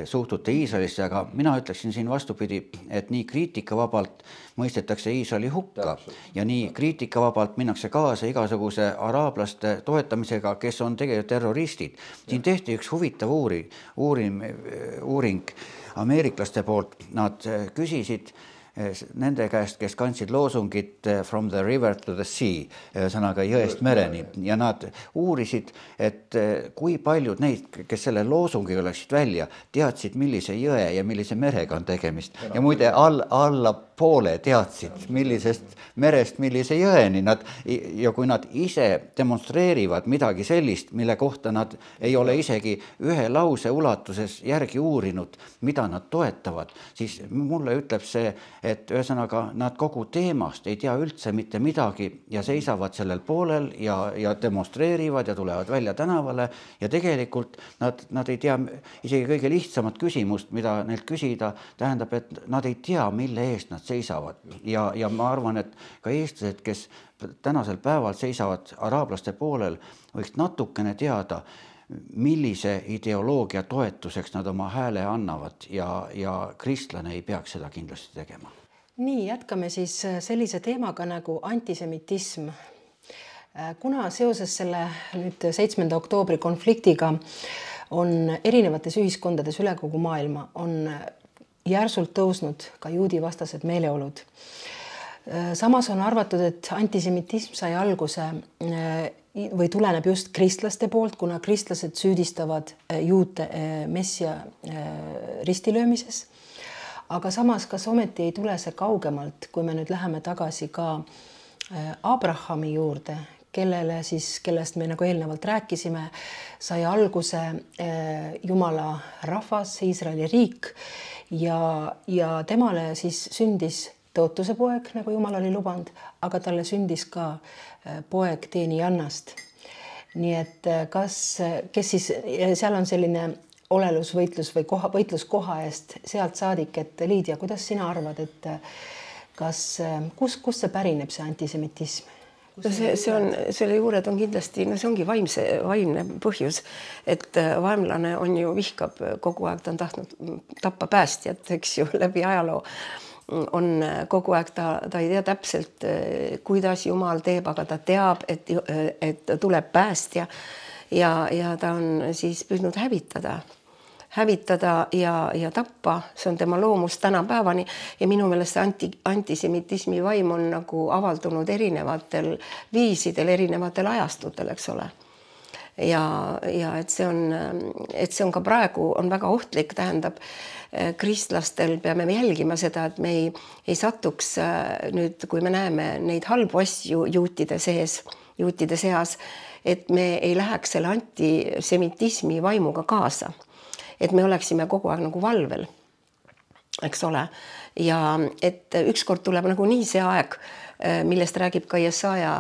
suhtute Iisraelisse, aga mina ütleksin siin vastupidi, et nii kriitikavabalt mõistetakse Iisraeli hukka ja nii kriitikavabalt minnakse kaasa igasuguse araablaste toetamisega, kes on tegelikult terroristid. Siin tehti üks huvitav uuring, uuring, uuring ameeriklaste poolt, nad küsisid nende käest, kes kandsid loosungit from the river to the sea, sõnaga jõest mereni, ja nad uurisid, et kui paljud neid, kes selle loosungi oleksid välja, teadsid, millise jõe ja millise merega on tegemist. Ja muide, all, alla poole teadsid, millisest merest, millise jõeni nad ja kui nad ise demonstreerivad midagi sellist, mille kohta nad ei ole isegi ühe lause ulatuses järgi uurinud, mida nad toetavad, siis mulle ütleb see, et ühesõnaga nad kogu teemast ei tea üldse mitte midagi ja seisavad sellel poolel ja, ja demonstreerivad ja tulevad välja tänavale ja tegelikult nad, nad ei tea isegi kõige lihtsamat küsimust, mida neilt küsida, tähendab, et nad ei tea, mille eest nad seisavad ja, ja ma arvan, et ka eestlased, kes tänasel päeval seisavad araablaste poolel, võiks natukene teada, millise ideoloogia toetuseks nad oma hääle annavad ja, ja kristlane ei peaks seda kindlasti tegema.
Nii, jätkame siis sellise teemaga nagu antisemitism. Kuna seoses selle nüüd seitsmenda oktoobri konfliktiga on erinevates ühiskondades üle kogu maailma, on järsult tõusnud ka juudi vastased meeleolud. Samas on arvatud, et antisemitism sai alguse või tuleneb just kristlaste poolt, kuna kristlased süüdistavad juute messia ristilöömises. Aga samas, kas ometi ei tule see kaugemalt, kui me nüüd läheme tagasi ka Abrahami juurde, kellele siis, kellest me nagu eelnevalt rääkisime, sai alguse Jumala rahvas, Iisraeli riik ja, ja temale siis sündis tõotuse poeg, nagu Jumal oli lubanud, aga talle sündis ka poeg teenijannast. Nii et kas, kes siis, seal on selline olelusvõitlus või koha, võitlus koha eest sealt saadik, et Liidia, kuidas sina arvad, et kas, kus, kus see pärineb, see antisemitism?
No see, see on, selle juured on kindlasti, no see ongi vaimse, vaimne põhjus, et vaimlane on ju vihkab kogu aeg, ta on tahtnud tappa päästjat, eks ju, läbi ajaloo on kogu aeg, ta, ta ei tea täpselt, kuidas Jumal teeb, aga ta teab, et, et tuleb päästja ja, ja ta on siis püüdnud hävitada. hävitada ja, ja tappa, see on tema loomus tänapäevani ja minu meelest see anti, antisemitismi vaim on nagu avaldunud erinevatel viisidel, erinevatel ajastutel, eks ole. Ja, ja et see on, et see on ka praegu on väga ohtlik, tähendab, kristlastel peame jälgima seda, et me ei, ei satuks nüüd, kui me näeme neid halbu asju juutide sees, juutide seas, et me ei läheks selle antisemitismi vaimuga kaasa. Et me oleksime kogu aeg nagu valvel, eks ole. Ja et ükskord tuleb nagu nii see aeg, millest räägib ka Jesaja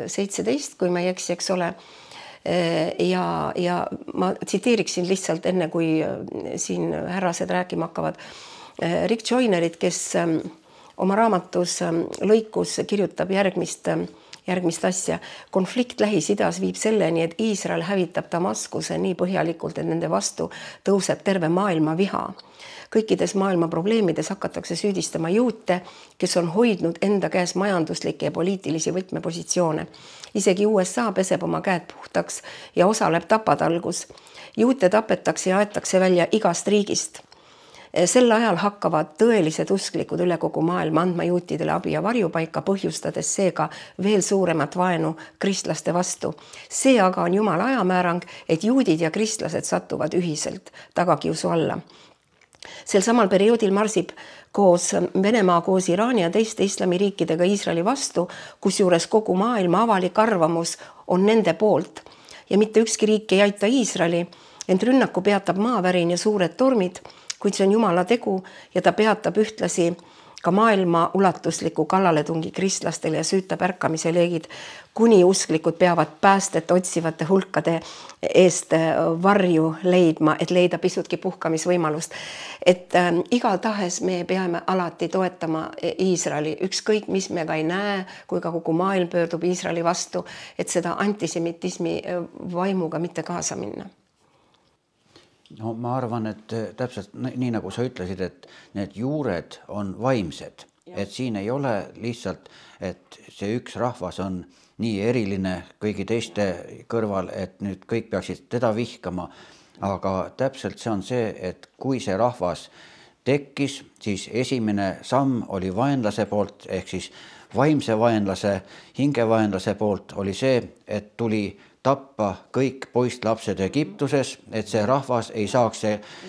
seitseteist, kui ma ei eksi, eks ole. Ja, ja ma tsiteeriksin lihtsalt enne, kui siin härrased rääkima hakkavad. Rick Joynerit, kes oma raamatus lõikus kirjutab järgmist järgmist asja. Konflikt Lähis-Idas viib selleni, et Iisrael hävitab Damaskuse nii põhjalikult, et nende vastu tõuseb terve maailma viha. Kõikides maailma probleemides hakatakse süüdistama juute, kes on hoidnud enda käes majanduslikke ja poliitilisi võtmepositsioone. Isegi U S A peseb oma käed puhtaks ja osaleb tapatalgus. Juute tapetakse ja aetakse välja igast riigist. Sel ajal hakkavad tõelised usklikud üle kogu maailma andma juutidele abi ja varjupaika, põhjustades seega veel suuremat vaenu kristlaste vastu. See aga on Jumala ajamäärang, et juudid ja kristlased satuvad ühiselt tagakiusu alla. Sel samal perioodil marsib koos Venemaa koos Iraani ja teiste islamiriikidega Iisraeli vastu, kusjuures kogu maailma avalik arvamus on nende poolt. Ja mitte ükski riik ei aita Iisraeli, ent rünnaku peatab maavärin ja suured tormid, kuid see on Jumala tegu ja ta peatab ühtlasi ka maailma ulatusliku kallaletungi kristlastele ja süütab ärkamise leegid, kuni usklikud peavad päästet otsivate hulkade eest varju leidma, et leida pisutki puhkamisvõimalust. Et äh, igal tahes me peame alati toetama Iisraeli, ükskõik mis me ka ei näe, kui ka kogu maailm pöördub Iisraeli vastu, et seda antisemitismi vaimuga mitte kaasa minna.
No ma arvan, et täpselt nii nagu sa ütlesid, et need juured on vaimsed, ja. Et siin ei ole lihtsalt, et see üks rahvas on nii eriline kõigi teiste kõrval, et nüüd kõik peaksid teda vihkama, aga täpselt see on see, et kui see rahvas tekkis, siis esimene samm oli vaenlase poolt, ehk siis vaimse vaenlase, hingevaenlase poolt oli see, et tuli tappa kõik poistlapsed Egiptuses, et see rahvas ei saaks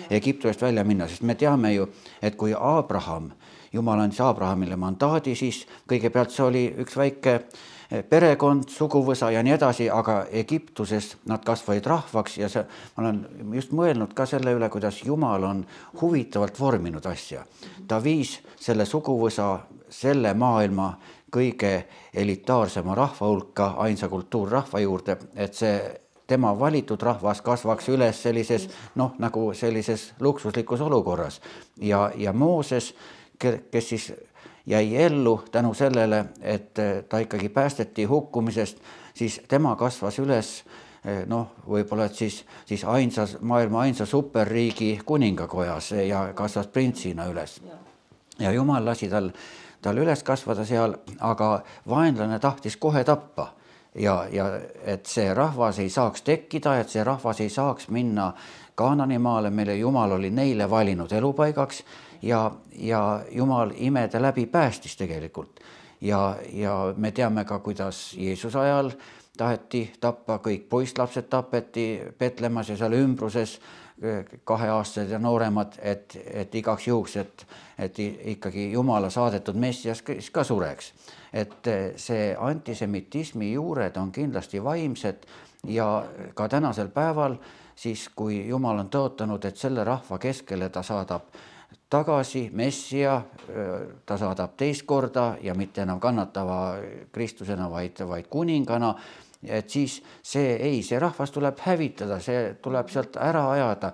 Egiptusest välja minna, sest me teame ju, et kui Abraham, Jumal andis Abrahamile mandaadi, siis kõigepealt see oli üks väike perekond, suguvõsa ja nii edasi, aga Egiptuses nad kasvaid rahvaks ja see, ma olen just mõelnud ka selle üle, kuidas Jumal on huvitavalt vorminud asja. Ta viis selle suguvõsa selle maailma kõige elitaarsema rahva hulka, ainsa kultuurrahva juurde, et see tema valitud rahvas kasvaks üles sellises, noh, nagu sellises luksuslikus olukorras. Ja, ja Mooses, kes siis jäi ellu tänu sellele, et ta ikkagi päästeti hukkumisest, siis tema kasvas üles, noh, võib-olla et siis, siis ainsas, maailma ainsa superriigi kuningakojas ja kasvas printsina üles. Ja Jumal lasi tal, tal üles kasvada seal, aga vaenlane tahtis kohe tappa ja, ja et see rahvas ei saaks tekkida, et see rahvas ei saaks minna Kaananimaale, mille Jumal oli neile valinud elupaigaks ja, ja Jumal imede läbi päästis tegelikult. Ja, ja me teame ka, kuidas Jeesuse ajal taheti tappa, kõik poistlapsed tapeti Petlemas ja seal ümbruses, kaheaastased ja nooremad, et, et igaks juhuks, et, et ikkagi Jumala saadetud messias ka sureks. Et see antisemitismi juured on kindlasti vaimsed ja ka tänasel päeval, siis kui Jumal on tõotanud, et selle rahva keskele ta saadab tagasi messia, ta saadab teist korda ja mitte enam kannatava Kristusena, vaid, vaid kuningana, et siis see ei, see rahvas tuleb hävitada, see tuleb sealt ära ajada,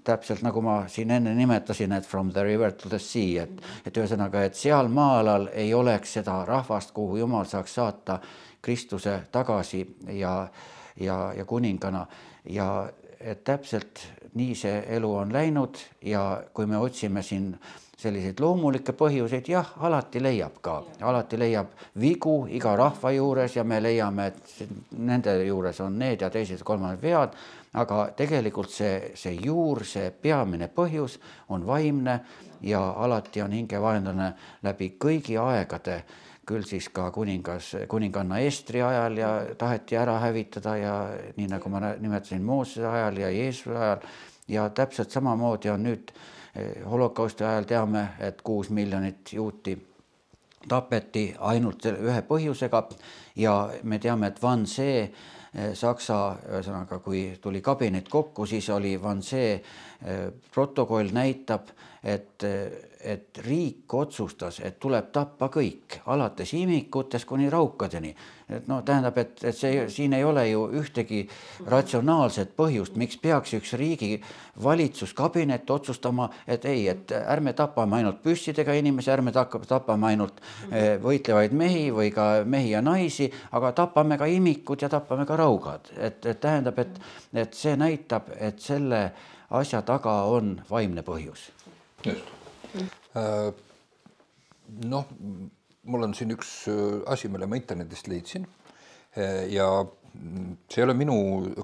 täpselt nagu ma siin enne nimetasin, et from the river to the sea, et, et ühesõnaga, et seal maa-alal ei oleks seda rahvast, kuhu Jumal saaks saata Kristuse tagasi ja, ja, ja kuningana ja et täpselt nii see elu on läinud ja kui me otsime siin selliseid loomulikke põhjuseid, jah, alati leiab ka, alati leiab vigu iga rahva juures ja me leiame, et nende juures on need ja teised kolmand vead, aga tegelikult see, see juur, see peamine põhjus on vaimne ja alati on hingevaenlane läbi kõigi aegade, küll siis ka kuningas, kuninganna Estri ajal ja taheti ära hävitada ja nii nagu ma nimetasin Moosese ajal ja Jeesuse ajal ja täpselt samamoodi on nüüd holokausti ajal teame, et kuus miljonit juuti tapeti ainult ühe põhjusega ja me teame, et Wannsee Saksa, ühesõnaga, kui tuli kabinet kokku, siis oli Wannsee protokoll näitab, et, et riik otsustas, et tuleb tappa kõik, alates imikutest kuni raukadeni. Et no tähendab, et, et see, siin ei ole ju ühtegi ratsionaalset põhjust, miks peaks üks riigi valitsuskabinet otsustama, et ei, et ärme tapame ainult püssidega inimesi, ärme tapame ainult võitlevaid mehi või ka mehi ja naisi, aga tapame ka imikud ja tapame ka raugad. Et, et tähendab, et, et see näitab, et selle asja taga on vaimne põhjus.
Just. Noh, mul on siin üks asi, mille ma internetist leidsin ja see ei ole minu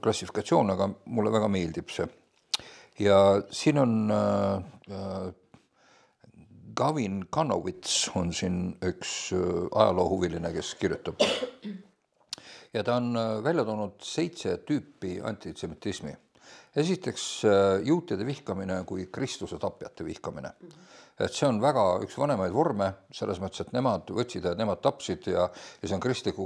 klassifikatsioon, aga mulle väga meeldib see. Ja siin on Gavin Kanowitz on siin üks ajaloohuviline, kes kirjutab. Ja ta on välja toonud seitse tüüpi antisemitismi. Esiteks juutide vihkamine kui Kristuse tapjate vihkamine. Et see on väga üks vanemaid vorme, selles mõttes, et nemad võtsid ja nemad tapsid ja, ja see on kristliku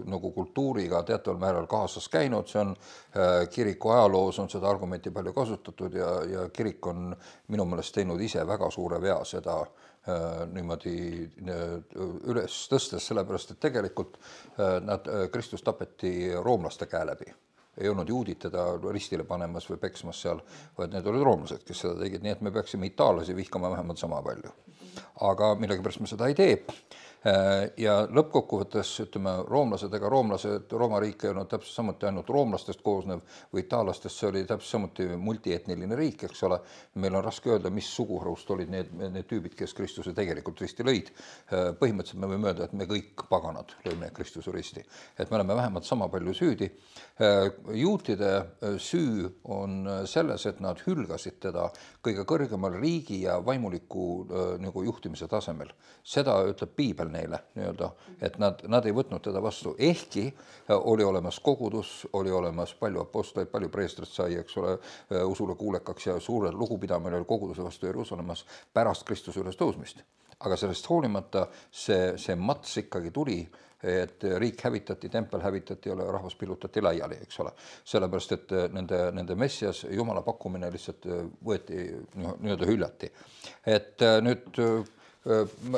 nagu kultuuriga teataval määral kaasas käinud, see on äh, kiriku ajaloos on seda argumenti palju kasutatud ja, ja kirik on minu meelest teinud ise väga suure vea seda äh, niimoodi äh, üles tõstes, sellepärast, et tegelikult äh, nad, äh, Kristus tapeti roomlaste käe läbi. Ei olnud juudid teda ristile panemas või peksmas seal, vaid need olid roomlased, kes seda tegid, nii et me peaksime itaallasi vihkama vähemalt sama palju. Aga millegipärast me seda ei tee. Ja lõppkokkuvõttes, ütleme, roomlased ega roomlased, Rooma riik ei olnud täpselt samuti ainult roomlastest koosnev või itaallastest, see oli täpselt samuti multietniline riik, eks ole. Meil on raske öelda, mis suguharust olid need, need tüübid, kes Kristuse tegelikult risti lõid. Põhimõtteliselt me võime öelda, et me kõik paganad lõime Kristuse risti. Et me oleme vähemalt sama palju süüdi. Juutide süü on selles, et nad hülgasid teda kõige kõrgemal riigi ja vaimuliku nagu juhtimise tasemel. Seda ütleb Piibel neile nii-öelda, et nad, nad ei võtnud teda vastu, ehkki oli olemas kogudus, oli olemas palju apostleid, palju preestrit sai, eks ole, usule kuulekaks ja suure lugupidamine oli koguduse vastu Jeruusalemmas pärast Kristuse üles tõusmist. Aga sellest hoolimata see, see mats ikkagi tuli, et riik hävitati, tempel hävitati ja rahvas pillutati laiali, eks ole. Sellepärast, et nende, nende messias Jumala pakkumine lihtsalt võeti nii-öelda hüljati. Et nüüd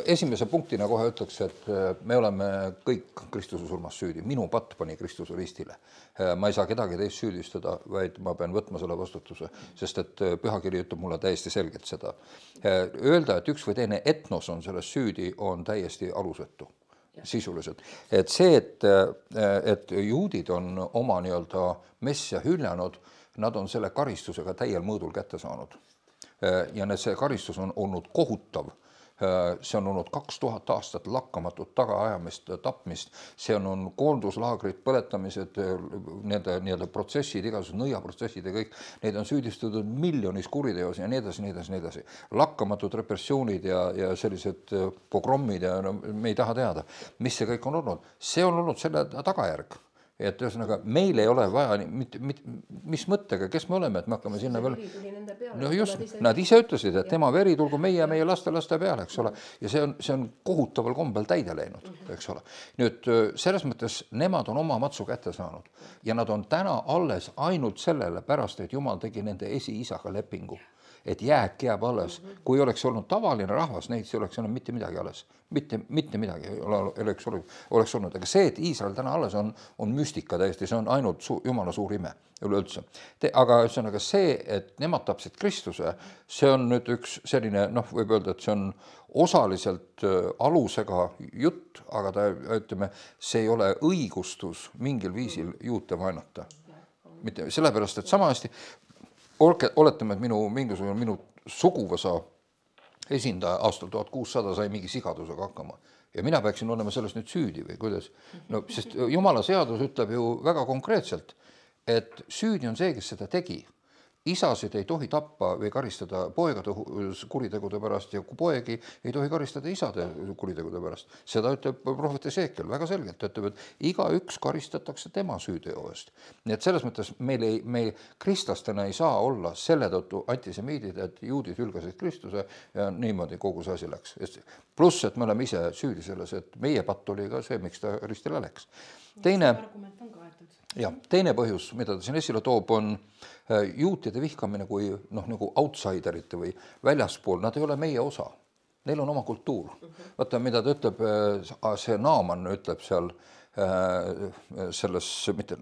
esimese punktina kohe ütleks, et me oleme kõik Kristuse surmas süüdi. Minu patt pani Kristuse ristile. Ma ei saa kedagi teist süüdistada, vaid ma pean võtma selle vastutuse, sest et pühakiri ütleb mulle täiesti selgelt seda. Öelda, et üks või teine etnos on selles süüdi, on täiesti alusetu. Sisuliselt. Et see, et, et juudid on oma nii-öelda messia hüljanud, nad on selle karistusega täiel mõõdul kätte saanud. Ja need, see karistus on olnud kohutav. See on olnud kaks tuhat aastat lakkamatut tagaajamist, tapmist. See on, on koonduslaagrid, põletamised, nende, nende protsessid, igasugused nõiaprotsessid ja kõik. Neid on süüdistatud miljonis kuriteos ja nii edasi, nii edasi, nii edasi. Lakkamatud repressioonid ja, ja sellised pogrommid ja no, me ei taha teada, mis see kõik on olnud. See on olnud selle tagajärg. Et ühesõnaga, meil ei ole vaja, mit, mit, mis mõttega, kes me oleme, et me hakkame sinna veel... No just, nad ise ütlesid, et tema veri tulgu meie ja meie laste laste peale, eks ole. Ja see on, see on kohutaval kombel täide läinud, eks ole. Nüüd selles mõttes nemad on oma matsu kätte saanud ja nad on täna alles ainult sellele pärast, et Jumal tegi nende esiisaga lepingu. Et jääk jääb alles. Kui oleks olnud tavaline rahvas, neid see oleks olnud mitte midagi alles. Mitte, mitte midagi oleks, oleks olnud. Aga see, et Iisrael täna alles on, on müstika täiesti, see on ainult su, Jumala suur ime üleüldse. Aga ühesõnaga see, et nemad tapsid Kristuse, see on nüüd üks selline, noh, võib öelda, et see on osaliselt alusega jutt, aga ta, ütleme, see ei ole õigustus mingil viisil juute vaenata. Mitte sellepärast, et sama hästi oletame, et minu, mingisugune minu suguvõsa esindaja aastal tuhat kuussada sai mingi sigadusega hakkama ja mina peaksin olema sellest nüüd süüdi või kuidas. No, sest Jumala seadus ütleb ju väga konkreetselt, et süüdi on see, kes seda tegi. Isasid ei tohi tappa või karistada poegade kuritegude pärast ja poegi ei tohi karistada isade kuritegude pärast. Seda ütleb prohvet Esekiel väga selgelt, ütleb, et iga üks karistatakse tema süüteo eest. Nii et selles mõttes meil, ei, meil kristlastena ei saa olla selle tõttu antisemiidid, et juudid hülgasid Kristuse ja niimoodi kogu see asi läks. Pluss, et me oleme ise süüdi selles, et meie patt oli ka see, miks ta ristile läks. Teine, ja, teine põhjus, mida ta siin esile toob, on juutide vihkamine kui noh, nagu outsiderite või väljaspool, nad ei ole meie osa. Neil on oma kultuur. Vaata, mida ta ütleb, see Naaman ütleb seal selles, mitte,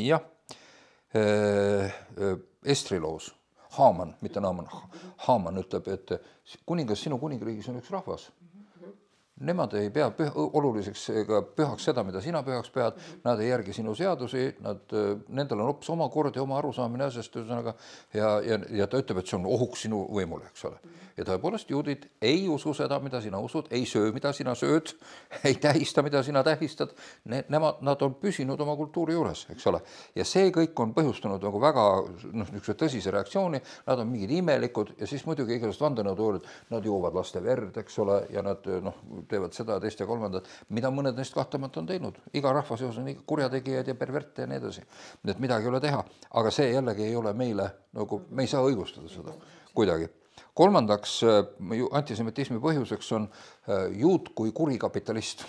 jah, Estriloos, Haaman, mitte Naaman, Haaman ütleb, et kuningas sinu kuningriigis on üks rahvas. Nemad ei pea püha, oluliseks ega pühaks seda, mida sina pühaks pead, nad ei järgi sinu seadusi, nad, nendel on hoopis oma kord ja oma arusaamine asjast, ühesõnaga, ja, ja, ja ta ütleb, et see on ohuks sinu võimule, eks ole. Ja tõepoolest juudid ei usu seda, mida sina usud, ei söö, mida sina sööd, ei tähista, mida sina tähistad, ne, nemad, nad on püsinud oma kultuuri juures, eks ole. Ja see kõik on põhjustanud nagu väga noh, niisuguse tõsise reaktsiooni, nad on mingid imelikud ja siis muidugi igasugust vandenõuteooriad, nad joovad laste verd, eks ole, ja nad noh, teevad seda, teist ja kolmandat, mida mõned neist kahtamata on teinud. Iga rahva seos on kurjategijad ja perverte ja nii edasi. Nii et midagi ei ole teha. Aga see jällegi ei ole meile, nagu me ei saa õigustada seda kuidagi. Kolmandaks, antisemitismi põhjuseks on juut kui kurikapitalist.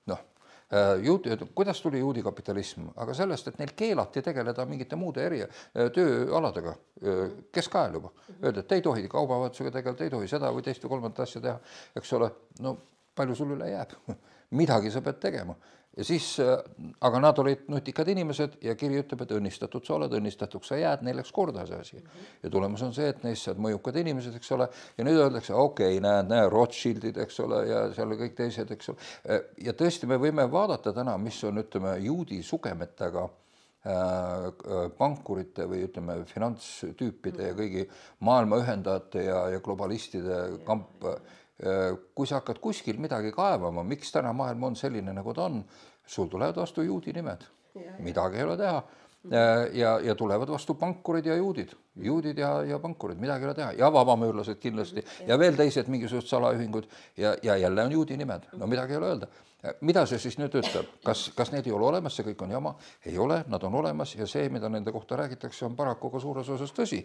Noh, juut, kuidas tuli juudi kapitalism? Aga sellest, et neil keelati tegeleda mingite muude eri tööaladega keskajal juba. Öelda, et ei tohi kaubavahetusega tegeleda, ei tohi seda või teist või kolmandat asja teha. Eks ole, no palju sul üle jääb? Midagi sa pead tegema. Ja siis, aga nad olid nutikad inimesed ja kiri ütleb, et õnnistatud sa oled, õnnistatuks sa jääd, neil läks korda see asi. Ja tulemus on see, et neist saad mõjukad inimesed, eks ole, ja nüüd öeldakse, okei, okay, näed, näe, Rothschildid, eks ole, ja seal kõik teised, eks ole. Ja tõesti, me võime vaadata täna, mis on, ütleme, juudi sugemetega pankurite või, ütleme, finantstüüpide ja kõigi maailma ühendajate ja, ja globalistide kamp. Kui sa hakkad kuskil midagi kaevama, miks täna maailm on selline, nagu ta on, sul tulevad vastu juudi nimed. Midagi ei ole teha. ja, ja tulevad vastu pankurid ja juudid, juudid ja, ja pankurid, midagi ei ole teha ja vabamüürlased kindlasti ja veel teised mingisugused salaühingud ja, ja jälle on juudi nimed, no midagi ei ole öelda. Mida see siis nüüd ütleb, kas, kas need ei ole olemas, see kõik on jama, ei ole, nad on olemas ja see, mida nende kohta räägitakse, on paraku ka suures osas tõsi.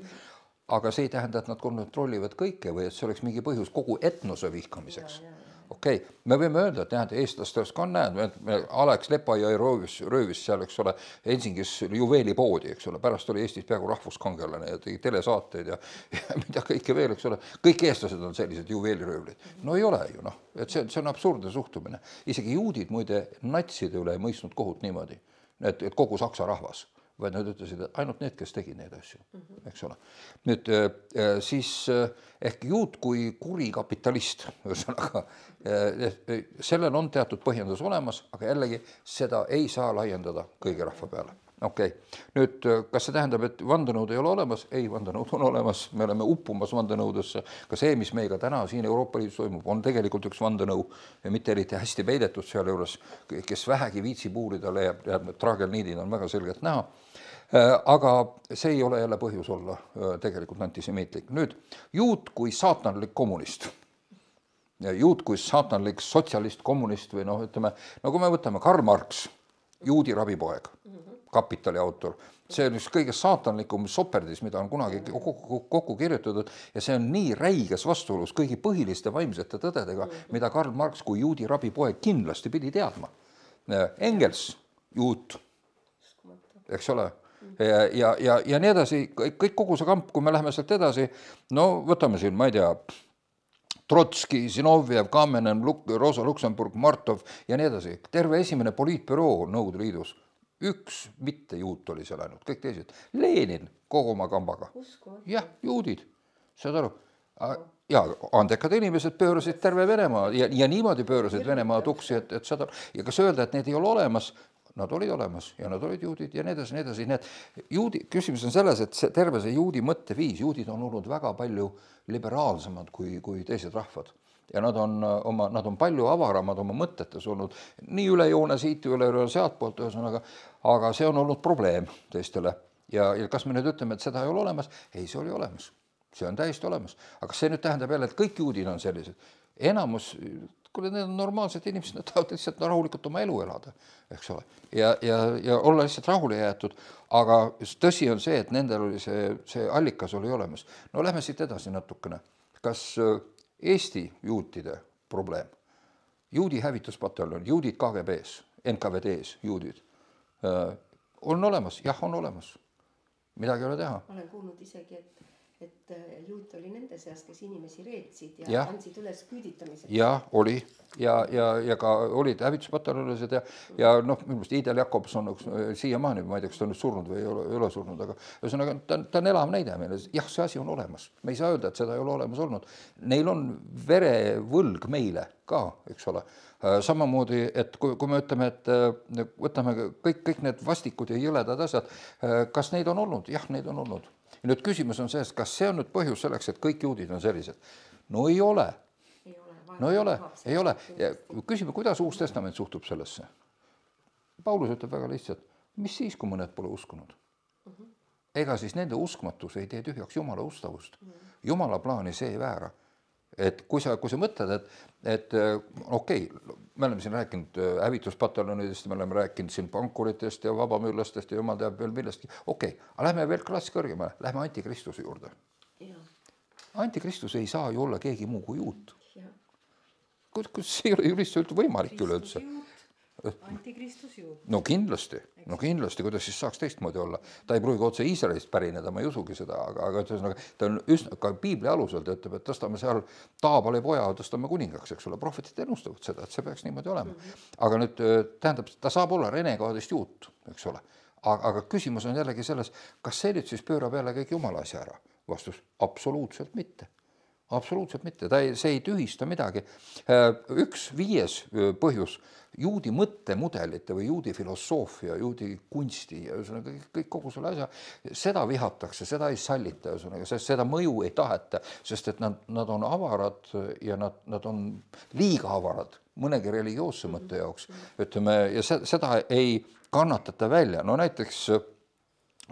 Aga see ei tähenda, et nad kontrollivad kõike või et see oleks mingi põhjus kogu etnose vihkamiseks. Okei, okay. Me võime öelda, et näed, eestlastest ka näed, Alex Lepajõe röövis, röövis seal, eks ole, Helsingis juveelipoodi, eks ole, pärast oli Eestis peaaegu rahvuskangelane ja tegi telesaateid ja, ja mida kõike veel, eks ole, kõik eestlased on sellised juveeliröövlid. No ei ole ju, noh, et see, see on absurdne suhtumine. Isegi juudid muide natside üle ei mõistnud kohut niimoodi, et, et kogu saksa rahvas, vaid nad ütlesid, et ainult need, kes tegid neid asju, eks ole. Nüüd siis ehk juut kui kuri kapitalist, ühesõnaga, sellel on teatud põhjendus olemas, aga jällegi seda ei saa laiendada kõigi rahva peale. Okei, okay. Nüüd kas see tähendab, et vandenõud ei ole olemas? Ei, vandenõud on olemas, me oleme uppumas vandenõudesse. Ka see, mis meiga täna siin Euroopa Liidus toimub, on tegelikult üks vandenõu ja mitte eriti hästi peidetud seal juures, kes vähegi viitsib uurida, leiab, leiab traagelniidid on väga selgelt näha. Aga see ei ole jälle põhjus olla tegelikult antisemiitlik. Nüüd, juut kui saatanlik kommunist, juut kui saatanlik sotsialist kommunist või noh, ütleme, no kui me võtame Karl Marx, juudi rabipoeg, Kapitali autor, see on üks kõige saatanlikum soperdis, mida on kunagi kokku, kokku kirjutatud ja see on nii räiges vastuolus kõigi põhiliste vaimsete tõdedega, mida Karl Marx kui juudi rabipoeg kindlasti pidi teadma. Engels, juut, eks ole, ja, ja, ja, ja nii edasi, kõik kogu see kamp, kui me läheme sealt edasi, no võtame siin, ma ei tea, Trotski, Zinovjev, Kamenev, Rosa Luxemburg, Martov ja nii edasi. Terve esimene poliitbüroo Nõukogude Liidus. Üks mitte juut oli seal ainult, kõik teised. Lenin kogu oma kambaga. Jah, juudid, saad aru. Ja andekad inimesed pöörasid terve Venemaa ja, ja niimoodi pöörasid Venemaa tuksi, et, et saad aru. Ja kas öelda, et need ei ole olemas? Nad olid olemas ja nad olid juudid ja nii edasi, nii edasi. Need juudi, küsimus on selles, et see, terve see juudi mõtteviis, juudid on olnud väga palju liberaalsemad kui, kui teised rahvad. Ja nad on, oma, nad on palju avaramad oma mõtetes olnud, nii üle joone siit, üle joone sealt poolt, ühesõnaga, aga see on olnud probleem teistele. Ja, ja kas me nüüd ütleme, et seda ei ole olemas? Ei, see oli olemas. See on täiesti olemas. Aga see nüüd tähendab jälle, et kõik juudid on sellised. Enamus, kui need on normaalsed inimesed, nad tahavad lihtsalt rahulikult oma elu elada, eks ole. Ja, ja, ja olla lihtsalt rahule jäetud. Aga tõsi on see, et nendel oli see, see allikas oli olemas. No lähme siit edasi natukene. Kas Eesti juutide probleem, juudi hävituspataljon, juudid K G B-s, N K V D-s, juudid, on olemas, jah, on olemas. Midagi ei ole teha.
Olen kuulnud isegi, et, et juut oli nende seas, kes inimesi reetsid ja,
ja
andsid üles küüditamiseks.
Ja, oli. Ja, ja, ja ka olid hävituspataljonised ja, ja noh, minu meelest Idel Jakobson siiamaani, ma ei tea, kas ta on nüüd surnud või ei ole, ei ole surnud, aga ühesõnaga ta, ta on elav näide meile. Jah, see asi on olemas. Me ei saa öelda, et seda ei ole olemas olnud. Neil on verevõlg meile ka, eks ole. Samamoodi, et kui, kui me ütleme, et võtame kõik, kõik need vastikud ja jõledad asjad, kas neid on olnud? Jah, neid on olnud. Ja nüüd küsimus on selles, kas see on nüüd põhjus selleks, et kõik juudid on sellised? No ei ole. No ei ole, ei ole. Ja küsime, kuidas Uus Testament suhtub sellesse? Paulus ütleb väga lihtsalt, mis siis, kui mõned pole uskunud? Ega siis nende uskmatus ei tee tühjaks Jumala ustavust. Jumala plaani see ei väära. Et kui sa, kui sa mõtled, et, et okei, okay, me oleme siin rääkinud hävituspataljonidest, me oleme rääkinud siin pankuritest ja vabamüürlastest ja jumal teab veel millestki. Okei, okay, aga lähme veel klass kõrgemale, lähme antikristuse juurde. Ja. Antikristus ei saa ju olla keegi muu kui juut. Kus see ei ole ju lihtsalt võimalik üleüldse.
Antikristus juut.
No kindlasti, no kindlasti, kuidas siis saaks teistmoodi olla. Ta ei pruugi otse Iisraelist pärineda, ma ei usugi seda, aga, aga ta on üsna, ka Piibli alusel ta ütleb, et tõstame seal Taabali poja, tõstame kuningaks, eks ole, prohvetid ennustavad seda, et see peaks niimoodi olema. Aga nüüd tähendab, ta saab olla renegaadist juut, eks ole. Aga, aga küsimus on jällegi selles, kas see nüüd siis pöörab jälle kõik jumala asja ära? Vastus, absoluutselt mitte. Absoluutselt mitte, ta ei, see ei tühista midagi. Üks viies põhjus, juudi mõttemudelite või juudi filosoofia, juudi kunsti ja kõik, kõik kogu selle asja, seda vihatakse, seda ei sallita, sest seda mõju ei taheta, sest et nad, nad on avarad ja nad, nad on liiga avarad mõnegi religioosse mõtte jaoks. Ütleme, ja seda ei kannatata välja. No näiteks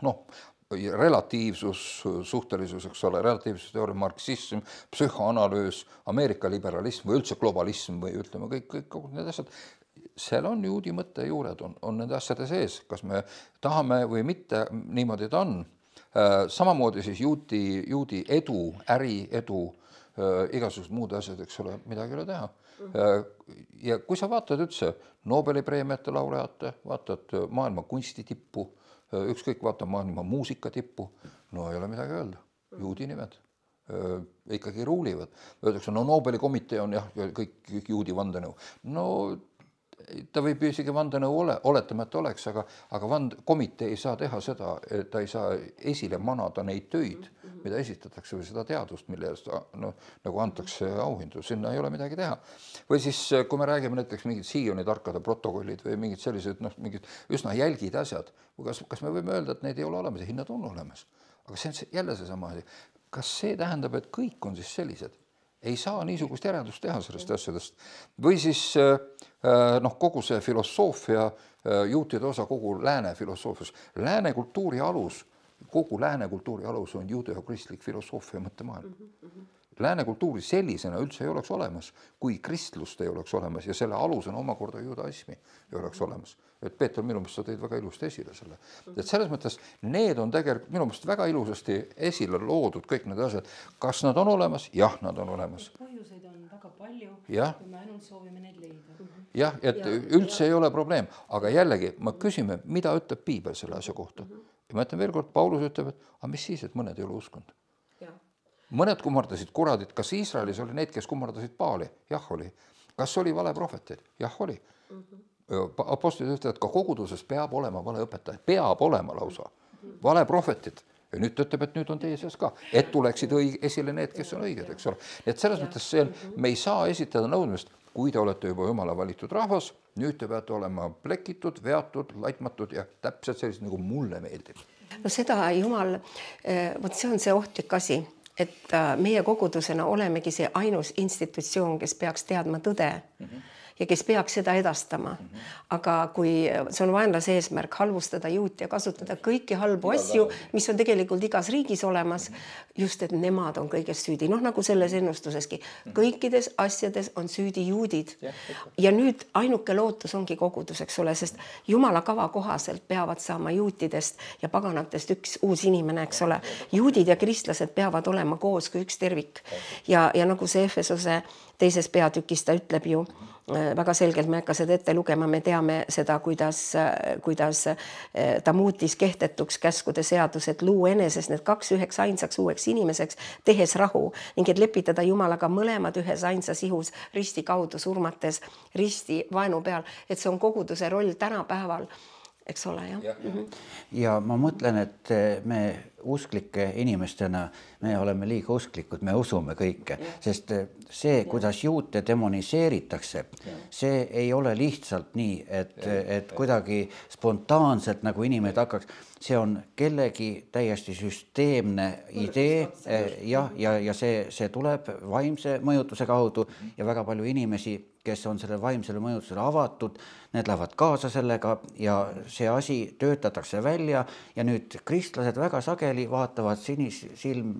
noh, relatiivsus, suhtelisus, eks ole, relatiivsusteooria, marksism, psühhoanalüüs, Ameerika liberalism või üldse globalism või ütleme kõik, kõik, kõik need asjad, seal on juudi mõtte juured, on, on nende asjade sees, kas me tahame või mitte, niimoodi ta on. Samamoodi siis juudi, juudi edu, äri edu, igasugused muud asjad, eks ole, midagi ei ole teha. Ja kui sa vaatad üldse Nobeli preemiate laureaate, vaatad maailma kunsti tippu, ükskõik vaata maailma muusika tippu, no ei ole midagi öelda, juudi nimed ikkagi ruulivad. Öeldakse, no Nobeli komitee on jah, kõik, kõik juudi vandenõu. No ta võib isegi vandenõu ole, oletama, et oleks, aga, aga vand, komitee ei saa teha seda, et ta ei saa esile manada neid töid, mida esitatakse või seda teadust, mille eest no, nagu antakse auhindu, sinna ei ole midagi teha. Või siis, kui me räägime näiteks mingid Sioni tarkade protokollid või mingid sellised, noh, mingid üsna jälgid asjad, kas, kas me võime öelda, et neid ei ole olemas ja hinnad on olemas? Aga see on jälle seesama, kas see tähendab, et kõik on siis sellised? Ei saa niisugust järeldust teha sellest asjadest. Või siis noh, kogu see filosoofia, juutide osa kogu lääne filosoofias, lääne kultuuri alus, kogu lääne kultuuri alus on juudeo-kristlik filosoofia mõttemaailm. Lääne kultuuri sellisena üldse ei oleks olemas, kui kristlust ei oleks olemas ja selle alus on omakorda judaismi ei oleks olemas. Et Peeter, minu mõttes sa tõid väga ilusti esile selle. Et selles mõttes need on tegelikult minu mõttes väga ilusasti esile loodud kõik need asjad. Kas nad on olemas? Jah, nad on olemas.
Põhjuseid on väga palju,
ja.
Kui me ainult soovime neid leida.
Jah, et ja, üldse ja. Ei ole probleem. Aga jällegi, ma küsime, mida ütleb Piibel selle asja kohta. Ja ma ütlen veel kord, Paulus ütleb, et aga mis siis, et mõned ei ole uskunud. Mõned kummardasid kuradid, kas Iisraelis oli neid, kes kummardasid Baali? Jah, oli. Kas oli vale prohveteid? Jah, oli. Apostlid ütlevad, et ka koguduses peab olema vale õpetaja, peab olema lausa vale prohvetid. Ja nüüd ütleb, et nüüd on teie seas ka, et tuleksid õige, esile need, kes on õiged, eks ole. Et selles mõttes see, me ei saa esitada nõudmist, kui te olete juba jumala valitud rahvas, nüüd te peate olema plekitud, veatud, laitmatud ja täpselt sellised, nagu mulle meeldib.
No seda jumal, võt see on see ohtlik asi, et meie kogudusena olemegi see ainus institutsioon, kes peaks teadma tõde mm-hmm. ja kes peaks seda edastama. Mm-hmm. Aga kui see on vaenlase eesmärk halvustada juut ja kasutada kõiki halbu asju, mis on tegelikult igas riigis olemas, mm-hmm. just et nemad on kõiges süüdi. Noh, nagu selles ennustuseski. Mm-hmm. Kõikides asjades on süüdi juudid. Ja, ja nüüd ainuke lootus ongi kogudus, eks ole, sest jumala kava kohaselt peavad saama juutidest ja paganatest üks uus inimene, eks ole. Juudid ja kristlased peavad olema koos kui üks tervik. Ja, ja nagu see Efesose teises peatükis ta ütleb ju väga selgelt, me ei hakka seda ette lugema, me teame seda, kuidas, kuidas ta muutis kehtetuks käskude seadused, luu eneses need kaks üheks ainsaks uueks inimeseks, tehes rahu ning et lepitada Jumalaga mõlemad ühes ainsas ihus risti kaudu surmates risti vaenu peal, et see on koguduse roll tänapäeval. Eks ole, jah. Ja, ja.
ja ma mõtlen, et me usklike inimestena, me oleme liiga usklikud, me usume kõike, ja. Sest see, kuidas juute demoniseeritakse, ja. See ei ole lihtsalt nii, et, et kuidagi spontaanselt nagu inimesed hakkaks, see on kellegi täiesti süsteemne idee ja, ja, ja see, see tuleb vaimse mõjutuse kaudu ja väga palju inimesi, kes on selle vaimsele mõjutusele avatud, need lähevad kaasa sellega ja see asi töötatakse välja ja nüüd kristlased väga sageli vaatavad sinisilm,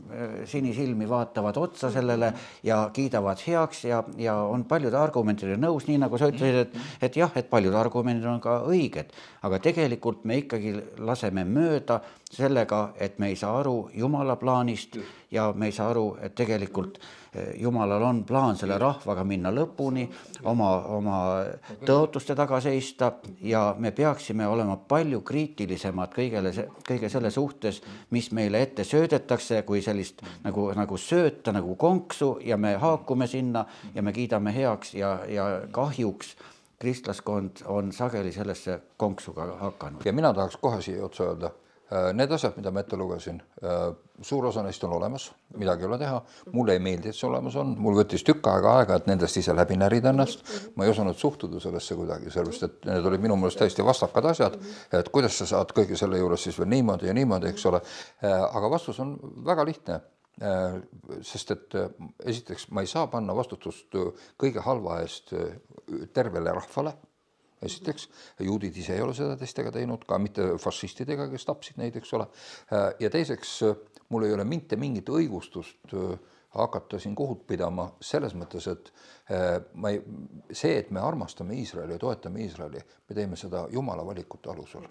sinisilmi vaatavad otsa sellele ja kiidavad heaks ja, ja on paljude argumentide nõus, nii nagu sa ütlesid, et, et jah, et paljud argumendid on ka õiged, aga tegelikult me ikkagi laseme mööda sellega, et me ei saa aru Jumala plaanist ja me ei saa aru, et tegelikult Jumalal on plaan selle rahvaga minna lõpuni, oma, oma tõotuste taga seista ja me peaksime olema palju kriitilisemad kõigele, kõige selle suhtes, mis meile ette söödetakse, kui sellist nagu, nagu sööta, nagu konksu ja me haakume sinna ja me kiidame heaks ja, ja kahjuks kristlaskond on sageli sellesse konksuga hakanud.
Ja mina tahaks kohe siia otsa öelda, need asjad, mida ma ette lugesin, suur osa neist on olemas, midagi ei ole teha. Mulle ei meeldi, et see olemas on. Mul võttis tükk aega aega, et nendest ise läbi närida ennast. Ma ei osanud suhtuda sellesse kuidagi, sellepärast, et need olid minu mõelest täiesti vastakad asjad, et kuidas sa saad kõige selle juures siis veel niimoodi ja niimoodi, eks ole. Aga vastus on väga lihtne, sest et esiteks ma ei saa panna vastutust kõige halva eest tervele rahvale. esiteks, juudid ise ei ole seda teistega teinud, ka mitte fašistidega, kes tapsid neid, eks ole. Ja teiseks, mul ei ole mitte mingit õigustust hakata siin kohut pidama selles mõttes, et ma ei, see, et me armastame Iisraeli ja toetame Iisraeli, me teeme seda Jumala valikute alusel.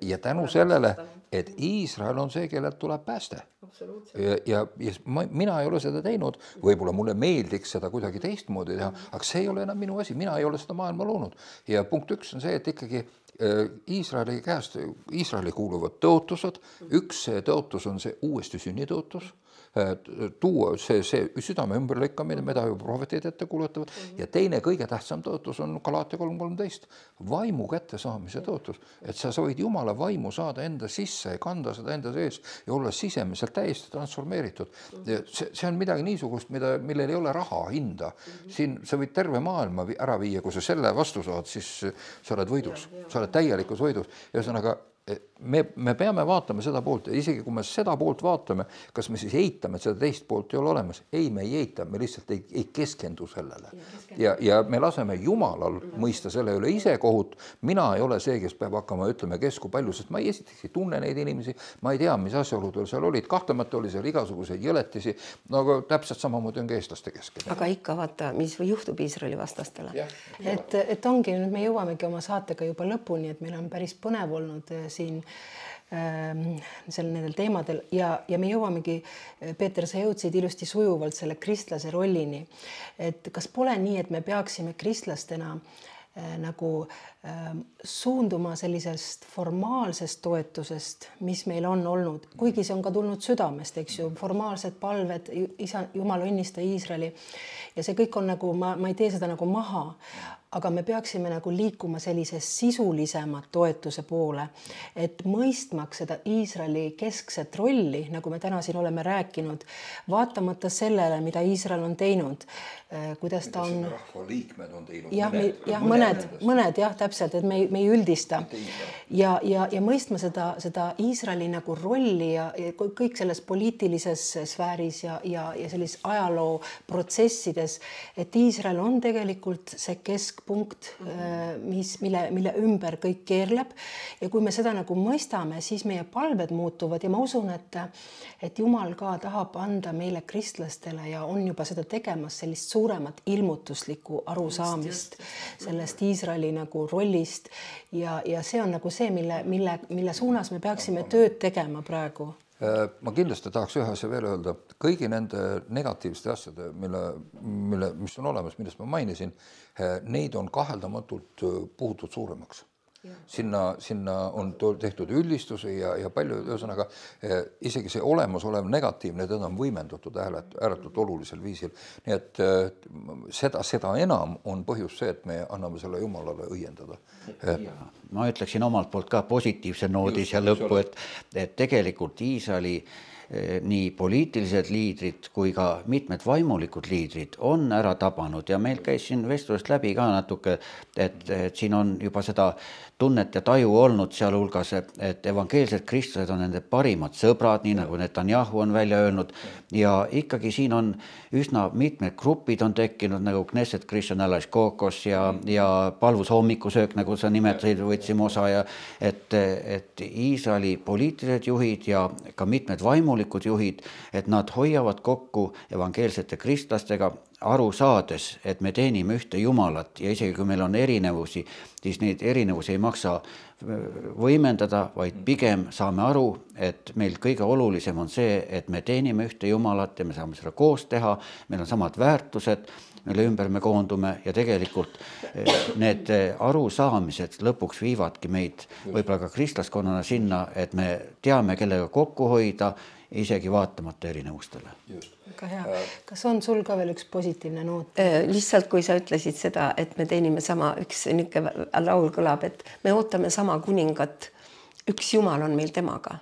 Ja tänu sellele, et Iisrael on see, kellelt tuleb pääste. Ja, ja, ja ma, mina ei ole seda teinud, võib-olla mulle meeldiks seda kuidagi teistmoodi teha, aga see ei ole enam minu asi, mina ei ole seda maailma loonud. Ja punkt üks on see, et ikkagi Iisraeli käest, Iisraeli kuuluvad tõotused, üks tõotus on see uuesti sünnitõotus, tuua see, see südame ümberlõikamine, mida ju prohvetid ette kuulutavad, ja teine kõige tähtsam tõotus on Galaatia kolm kolmteist, vaimu kätte saamise tõotus, et sa võid Jumala vaimu saada enda sisse ja kanda seda enda sees ja olla sisemiselt täiesti transformeeritud. See, see on midagi niisugust, mida, millel ei ole raha hinda. Siin sa võid terve maailma ära viia, kui sa selle vastu saad, siis sa oled võidus, sa oled täielikus võidus. Ühesõnaga, me, me peame vaatama seda poolt ja isegi kui me seda poolt vaatame, kas me siis eitame, et seda teist poolt ei ole olemas. Ei, me ei eita, me lihtsalt ei, ei keskendu sellele. Ja, ja me laseme Jumalal mõista selle üle ise kohut. Mina ei ole see, kes peab hakkama, ütleme, kesku palju, sest ma ei esiteks ei tunne neid inimesi, ma ei tea, mis asjaoludel seal olid. Kahtlemata oli seal igasuguseid jõletisi, no aga täpselt samamoodi on ka eestlaste keskel.
Aga ikka vaata, mis juhtub Iisraeli vastastele.
Et, et ongi, nüüd me jõuamegi oma saatega juba lõpuni, et meil on päris põnev olnud siin äh, seal nendel teemadel ja, ja me jõuamegi, Peeter, sa jõudsid ilusti sujuvalt selle kristlase rollini, et kas pole nii, et me peaksime kristlastena äh, nagu äh, suunduma sellisest formaalsest toetusest, mis meil on olnud, kuigi see on ka tulnud südamest, eks ju, formaalsed palved, isa, Jumal õnnista Iisraeli ja see kõik on nagu, ma, ma ei tee seda nagu maha, aga me peaksime nagu liikuma sellise sisulisema toetuse poole, et mõistmaks seda Iisraeli keskset rolli, nagu me täna siin oleme rääkinud, vaatamata sellele, mida Iisrael on teinud, kuidas ta on...
Rahva liikmed on teinud.
Jah, mõned, jah, mõned, mõned, jah, täpselt, et me ei, me ei üldista. Ja, ja, ja mõistma seda, seda Iisraeli nagu rolli ja, ja kõik selles poliitilises sfääris ja, ja, ja sellis ajaloo protsessides, et Iisrael on tegelikult see kesk punkt, mis, mille, mille ümber kõik keerleb ja kui me seda nagu mõistame, siis meie palved muutuvad ja ma usun, et, et Jumal ka tahab anda meile kristlastele ja on juba seda tegemas sellist suuremat ilmutuslikku arusaamist sellest Iisraeli nagu rollist ja, ja see on nagu see, mille, mille, mille suunas me peaksime tööd tegema praegu.
Ma kindlasti tahaks ühe asja veel öelda, kõigi nende negatiivsete asjade, mille, mille, mis on olemas, millest ma mainisin, neid on kaheldamatult puhutud suuremaks. Sinna, sinna on tehtud üldistusi ja, ja palju, ühesõnaga, isegi see olemasolev negatiivne, teda on võimendatud ääretult olulisel viisil. Nii et seda, seda enam on põhjus see, et me anname selle Jumalale õiendada.
Ja, ma ütleksin omalt poolt ka positiivse noodi siia lõppu, et, et tegelikult Iisraeli nii poliitilised liidrid kui ka mitmed vaimulikud liidrid on ära tabanud ja meil käis siin vestlust läbi ka natuke, et, et siin on juba seda tunnet ja taju olnud sealhulgas, et evangeelsed kristlased on nende parimad sõbrad, nii nagu Netanyahu on välja öelnud ja ikkagi siin on üsna mitmed grupid on tekkinud nagu Knesset Christian Allies Caucus ja, ja palvus hommikusöök, nagu sa nimetasid, võtsime osa ja et, et Iisraeli poliitilised juhid ja ka mitmed vaimulikud juhid, et nad hoiavad kokku evangeelsete kristlastega aru saades, et me teenime ühte Jumalat ja isegi kui meil on erinevusi, siis neid erinevusi ei maksa võimendada, vaid pigem saame aru, et meil kõige olulisem on see, et me teenime ühte Jumalat ja me saame seda koos teha, meil on samad väärtused, mille ümber me koondume ja tegelikult need arusaamised lõpuks viivadki meid võib-olla ka kristlaskonnana sinna, et me teame, kellega kokku hoida, isegi vaatamata erinevustele.
Väga hea. Kas on sul ka veel üks positiivne noot?
Lihtsalt kui sa ütlesid seda, et me teenime sama, üks niuke laul kõlab, et me ootame sama kuningat, üks Jumal on meil temaga.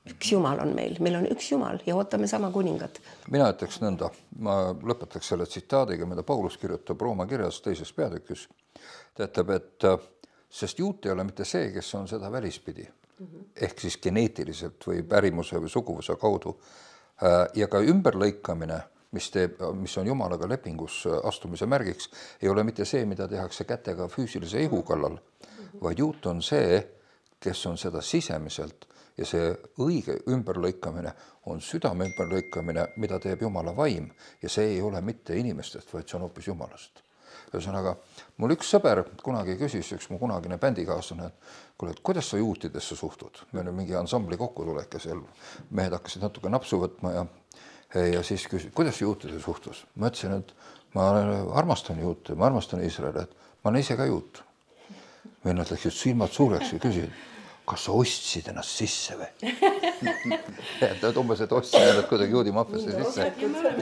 Üks Jumal on meil, meil on üks Jumal ja ootame sama kuningat.
Mina ütleks nõnda, ma lõpetaks selle tsitaadiga, mida Paulus kirjutab Rooma kirjas teises peatükis. Ta ütleb, et sest juut ei ole mitte see, kes on seda välispidi, ehk siis geneetiliselt või pärimuse või suguvuse kaudu. Ja ka ümberlõikamine mis teeb, mis on Jumalaga lepingus astumise märgiks, ei ole mitte see, mida tehakse kätega füüsilise ihu kallal, vaid juut on see, kes on seda sisemiselt ja see õige ümberlõikamine on südame ümberlõikamine, mida teeb Jumala vaim ja see ei ole mitte inimestest, vaid see on hoopis Jumalast. Ühesõnaga, mul üks sõber kunagi küsis, üks mu kunagine bändikaaslane, et kuule, et kuidas sa juutidesse suhtud? Me olime mingi ansambli kokkutulek ja seal mehed hakkasid natuke napsu võtma ja ja siis küsis, kuidas juutide suhtus? Ma ütlesin, et ma armastan juute, ma armastan Iisraeli, et ma olen ise ka juut. Vennad läksid silmad suureks ja küsisid, kas sa ostsid ennast sisse või? Ta umbes, et ostsin ennast kuidagi juudi maffiasse sisse.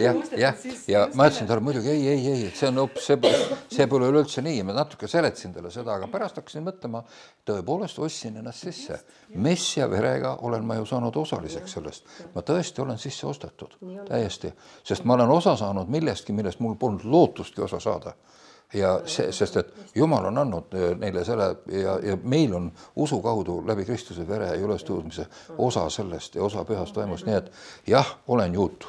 Ja, ja, ja ma ütlesin talle muidugi, ei, ei, ei, see on hoopis, see, see pole üleüldse nii. Ma natuke seletsin talle seda, aga pärast hakkasin mõtlema, tõepoolest ostsin ennast sisse. Messia verega olen ma ju saanud osaliseks sellest. Ma tõesti olen sisse ostetud, täiesti. Sest ma olen osa saanud millestki, millest mul polnud lootustki osa saada. Ja see, sest et Jumal on andnud neile selle ja, ja meil on usu kaudu läbi Kristuse vere ja ülestõusmise osa sellest ja osa pühast vaimust, nii et jah, olen juut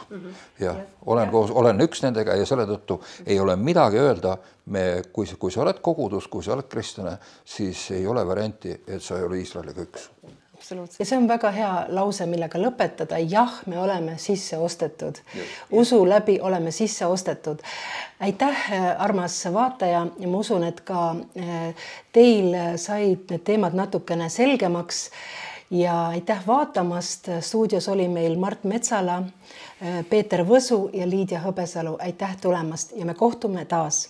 ja olen, koos, olen üks nendega ja selle tõttu ei ole midagi öelda, me, kui, kui sa oled kogudus, kui sa oled kristlane, siis ei ole varianti, et sa ei ole Iisraeliga üks.
Ja see on väga hea lause, millega lõpetada. Jah, me oleme sisse ostetud. Usu läbi oleme sisse ostetud. Aitäh, armas vaataja. Ja ma usun, et ka teil said need teemad natukene selgemaks. Ja aitäh vaatamast. Stuudios oli meil Mart Metsala, Peeter Võsu ja Liidia Hõbesalu. Aitäh tulemast ja me kohtume taas.